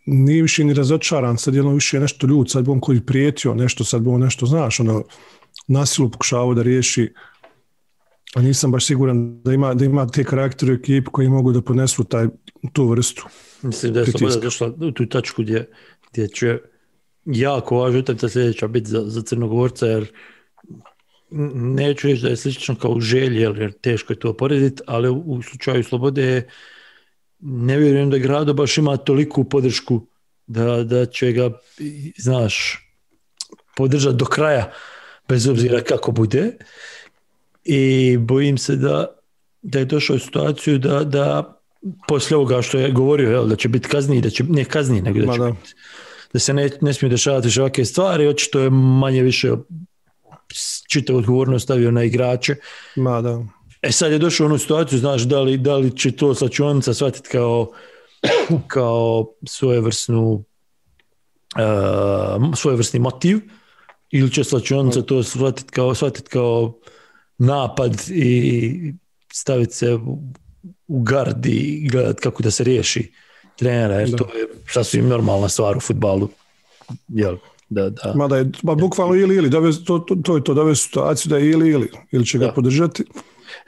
nije više ni razočaran, sad je ono više nešto ljud, sad bi on koji prijetio nešto, sad bi on nešto, znaš, ono, nasilu pokušavao da riješi, a nisam baš siguran da ima, da ima te karaktere u ekipi koji mogu da podnesu taj, tu vrstu. Mislim da je Sloboda došla u tu tačku gdje, gdje će jako važno utakmica sljedeća biti za, za Crnogorca, jer neću reći da je slično kao u Želji, jer teško je to porediti, ali u, u slučaju Slobode ne vjerujem da Grado baš ima toliku podršku da, da će ga, znaš, podržati do kraja, bez obzira kako bude. I bojim se da, da je došao u situaciju da, da poslije ovoga što je govorio, jel, da će biti kazni, da će, ne kazni, nego da će biti, da se ne, ne smije dešavati više ovakve stvari, očito je manje više čitav odgovornost stavio na igrače. Ma da. E sad je došao u onu situaciju, znaš, da li, da li će to slačionica shvatiti kao, kao svojevrsnu uh, svojevrsni motiv, ili će slačionica to shvatiti kao, shvatiti kao napad i staviti se u, u gard i gledati kako da se riješi trenera, jer da. To je sasvim normalna stvar u fudbalu. Jel? Da, da. Mada je, ba, bukvalno ili ili, dove, to, to, to je to, dove situaciju da je ili ili, ili će ga da. podržati.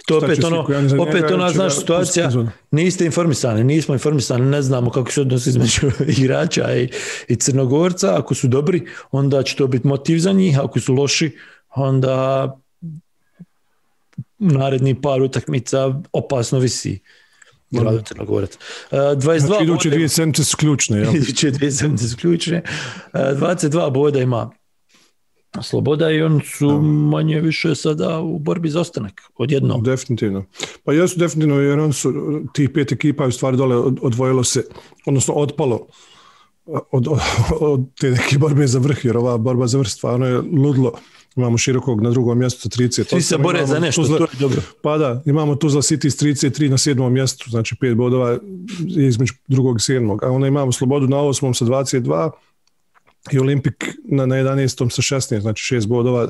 To opet ono, opet ona, znaš, situacija, niste informisani, nismo informisani, ne znamo kako se odnosi između igrača i, i Crnogorca. Ako su dobri, onda će to biti motiv za njih, ako su loši, onda naredni par utakmica opasno visi Grado Crnogorac. dvadeset dva znači, iduće dvije sedmice su ključne. Ja. Iduće dvije sedmice su ključne. dvadeset dva boda ima Sloboda i oni su da. manje više sada u borbi za ostanak, odjednom. Definitivno. Pa jesu definitivno, jer oni su, tih pet ekipa u stvari dole odvojilo se, odnosno otpalo od, od, od te neke borbe za vrh, jer ova borba za vrh stvarno je ludlo. Imamo Širokog na drugom mjestu sa trideset osam. Svi se bore za nešto, Tuzla, to je dobro. Pa da, imamo Tuzla City s trideset tri na sedmom mjestu, znači pet bodova između drugog i sedmog. A onda imamo Slobodu na osmom sa dvadeset dva i Olimpik na, na jedanaestom sa šesnaest, znači šest bodova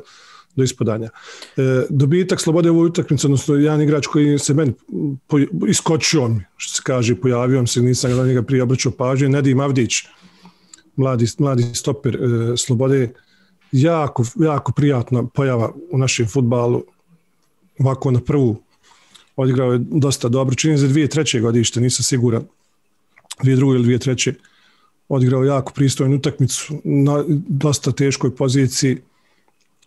do ispadanja. E, dobitak Slobode u ovoj utakmici, odnosno jedan igrač koji se meni po, iskočio mi, što se kaže, pojavio se, nisam ga njega prije obraćao pažnje, Nedim Avdić, mladi, mladi stoper e, Slobode, jako, jako prijatna pojava u našem fudbalu, ovako na prvu odigrao je dosta dobro, čini za dvije treće godište, nisam siguran, dvije druge ili dvije treće, odigrao jako pristojnu utakmicu na dosta teškoj poziciji,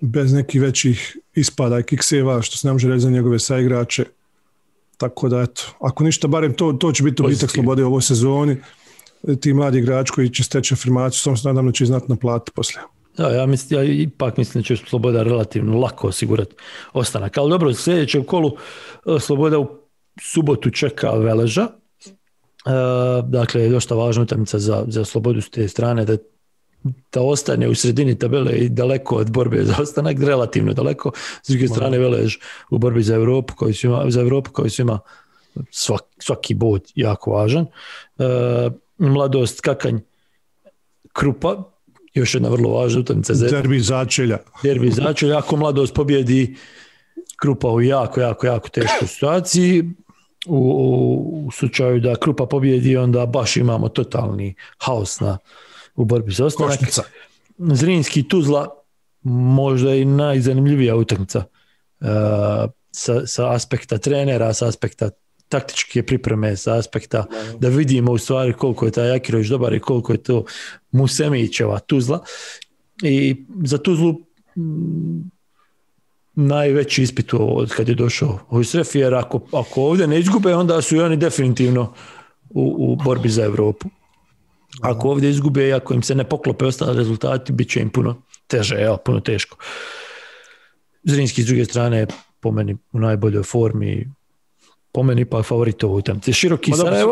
bez nekih većih ispada i kikseva, što se ne može reći za njegove saigrače, tako da eto, ako ništa, barem to, to će biti dobitak Slobode u ovoj sezoni, ti mladi igrači koji će steći afirmaciju, samo se nadam da će znati naplatiti poslije. Da, ja, mislim, ja ipak mislim da će Sloboda relativno lako osigurati ostanak. Ali dobro, u sljedećem kolu Sloboda u subotu čeka Veleža. dakle, dosta važna utakmica za, za slobodu s te strane, da, da ostane u sredini tabele i daleko od borbe za ostanak, relativno daleko. S druge strane, Velež u borbi za Europu, koji su ima, za Europu koji su ima svak, svaki bod jako važan. E, Mladost, Kakanj, Krupa, još jedna vrlo važna utakmica. Derbi začelja. Derbi začelja. Ako Mladost pobjedi Krupa u jako, jako, jako teškoj situaciji, u, u, u slučaju da Krupa pobjedi, onda baš imamo totalni haos na, u borbi za ostanak. Košnica. Zrinski, Tuzla, možda i najzanimljivija utakmica uh, sa, sa aspekta trenera, sa aspekta taktičke pripreme, sa aspekta da vidimo u stvari koliko je taj Akirović dobar i koliko je to Musemićeva Tuzla. I za Tuzlu m, najveći ispit od kad je došao Hojsref, jer ako, ako ovdje ne izgube, onda su i oni definitivno u, u borbi za Europu. Ako ovdje izgube i ako im se ne poklope ostali rezultati, bit će im puno teže, evo, puno teško. Zrinski s druge strane po meni u najboljoj formi, po meni pa favorit ovo utakmice. Široki Ma Sarajevo.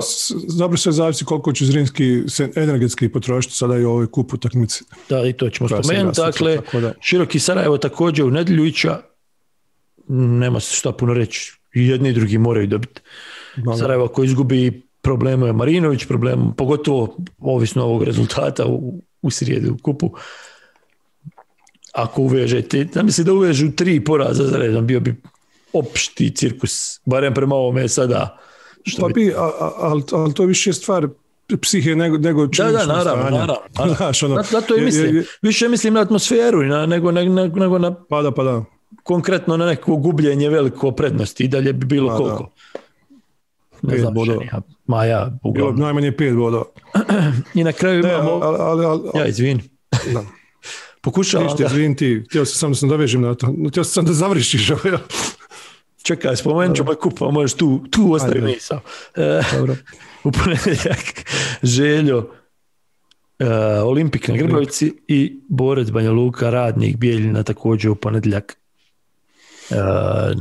Dobro sve zavisi koliko će Zrinski se energetski potrošiti sada i u ovoj kupu utakmici. Da, i to ćemo spomenuti. Dakle, Široki Sarajevo također u Nedeljuća, nema se šta puno reći, i jedni i drugi moraju dobiti. Da, Sarajevo koji izgubi, problemu je Marinović, problem, pogotovo ovisno ovog rezultata u, u srijedu u kupu. Ako uvežete, da misli da uvežu tri poraza za redom, bio bi opšti cirkus, barem prema ovome sada. Što pa bi, bi, ali al to je više stvar psihe nego, nego činjenično stanje. Da, da, naravno, naravno. naravno. Znaš, ono, zato i mislim, više mislim na atmosferu na, nego, nego, nego na... Pa da, pa da. Konkretno na neko gubljenje veliko prednosti i dalje bi bilo pa, koliko? Da. Ne znam, ja, ma ja, uglavnom. Bilo najmanje pet bodova. I na kraju ne, imamo... Ali, ali, ali, ja, izvini. Da. Pokušavam Ništa, izvini ti. Htio sam samo da se dovežem na to. Htio sam sam da završiš. Čekaj, spomenut ću moj kup, pa možeš tu, tu ostavi misao. Dobro. U ponedjeljak Željo, uh, Olimpik na Grbavici i Borac Banja Luka, Radnik Bijeljina također u ponedjeljak uh,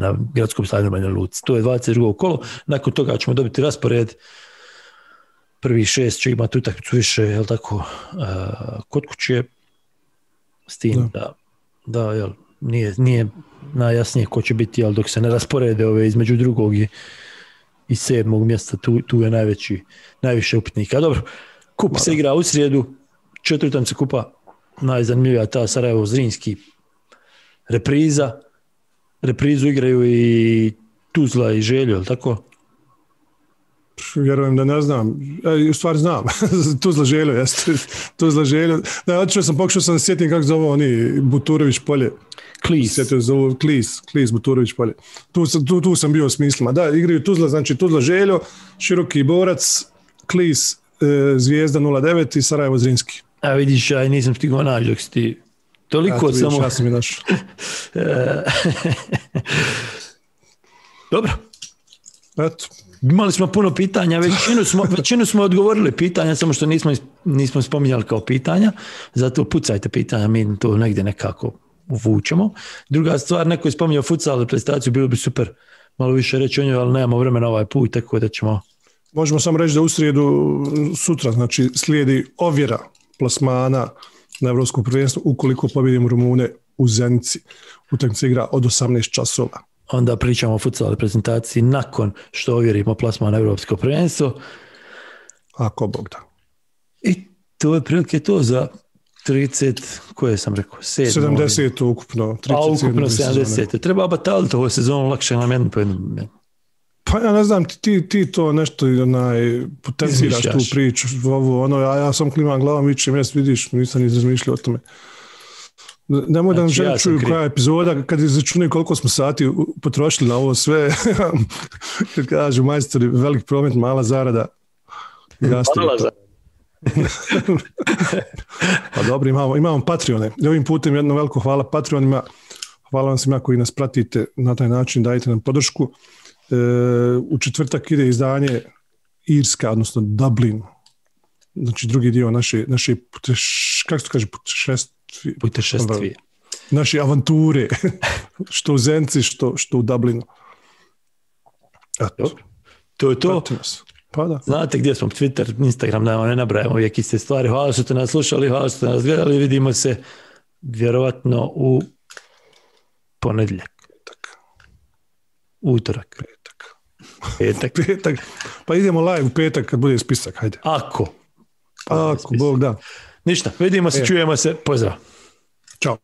na gradskom stadionu Banja Luci. To je dvadeset drugo kolo. Nakon toga ćemo dobiti raspored. Prvi šest će imati utakmicu više, jel tako, uh, kod kuće. S tim da, da, da jel, nije, nije najjasnije ko će biti, ali dok se ne rasporede ove između drugog i, i sedmog mjesta, tu, tu je najveći, najviše upitnika. Dobro, kup Mada. se igra u srijedu, četvrtam se kupa, najzanimljivija ta Sarajevo Zrinski repriza, reprizu igraju i Tuzla i Željo, je tako? Vjerujem da ne znam, e, u stvari znam, Tuzla Željo, jeste, Tuzla Željo, da, otišao sam, pokušao sam da sjetim kako zove oni, Buturović polje. Klis. Sjetio zove, Klis, Klis, Buturović polje. Tu, tu, tu sam bio s mislima. Da, igraju Tuzla, znači Tuzla Željo, Široki Borac, Klis, e, Zvijezda nula devet i Sarajevo Zrinski. A vidiš, ja nisam stigao naći dok si ti toliko vidiš, samo... Ja sam i našao. Dobro. Eto. Imali smo puno pitanja, većinu smo, većinu smo odgovorili pitanja, samo što nismo, nismo spominjali kao pitanja, zato pucajte pitanja, mi to negdje nekako uvučemo. Druga stvar, neko je spominjao futsal prestaciju, bilo bi super malo više reći o njoj, ali nemamo vremena ovaj put, tako da ćemo... Možemo samo reći da u srijedu sutra, znači slijedi ovjera plasmana na Evropskom prvenstvu ukoliko pobjedimo Rumune u Zenici. Utakmica igra od osamnaest časova. Onda pričamo o futsal prezentaciji nakon što ovjerimo plasman na Evropsko prvenstvo. Ako Bog da. I to je prilike to za trideset, koje sam rekao? sedam, sedamdeset ukupno. trideset, a ukupno sedamdeset. Treba bataliti ovo sezonu, lakše nam jednu po jednu. Pa ja ne znam, ti, ti to nešto onaj, potenciraš tu priču, ovo, ono, a ja sam klimam glavom, vičem, jes vidiš, nisam ni razmišljao o tome. Nemoj da nam žele čuju koja je epizoda, kad izračunaju koliko smo sati potrošili na ovo sve, kad kažu majstori, velik promet, mala zarada. Mala zarada. Pa dobro, imamo, imamo Patreone. I ovim putem jedno veliko hvala Patreonima, hvala vam svima koji nas pratite na taj način, dajte nam podršku. E, u četvrtak ide izdanje Irska, odnosno Dublin, znači drugi dio naše, naše puteš, kako se kaže, putešest, putešestvije. Naše avanture, što u Zenci, što, što u Dublinu. Eto. To je to. Pa da. Znate gdje smo, Twitter, Instagram, da vam ne nabrajamo uvijek iste stvari. Hvala što ste nas slušali, hvala što ste nas gledali. Vidimo se vjerovatno u ponedjeljak. Petak. Utorak. Petak. Petak. Petak. Pa idemo live u petak kad bude spisak, hajde. Ako. Pa Ako, spisak. Bog da. Ništa, vidimo se, e. čujemo se, pozdrav. Ćao.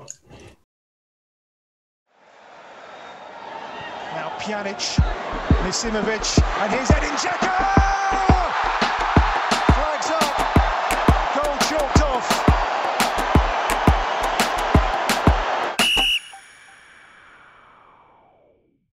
Now Pjanic, Misimovic, and here's Edin Dzeko!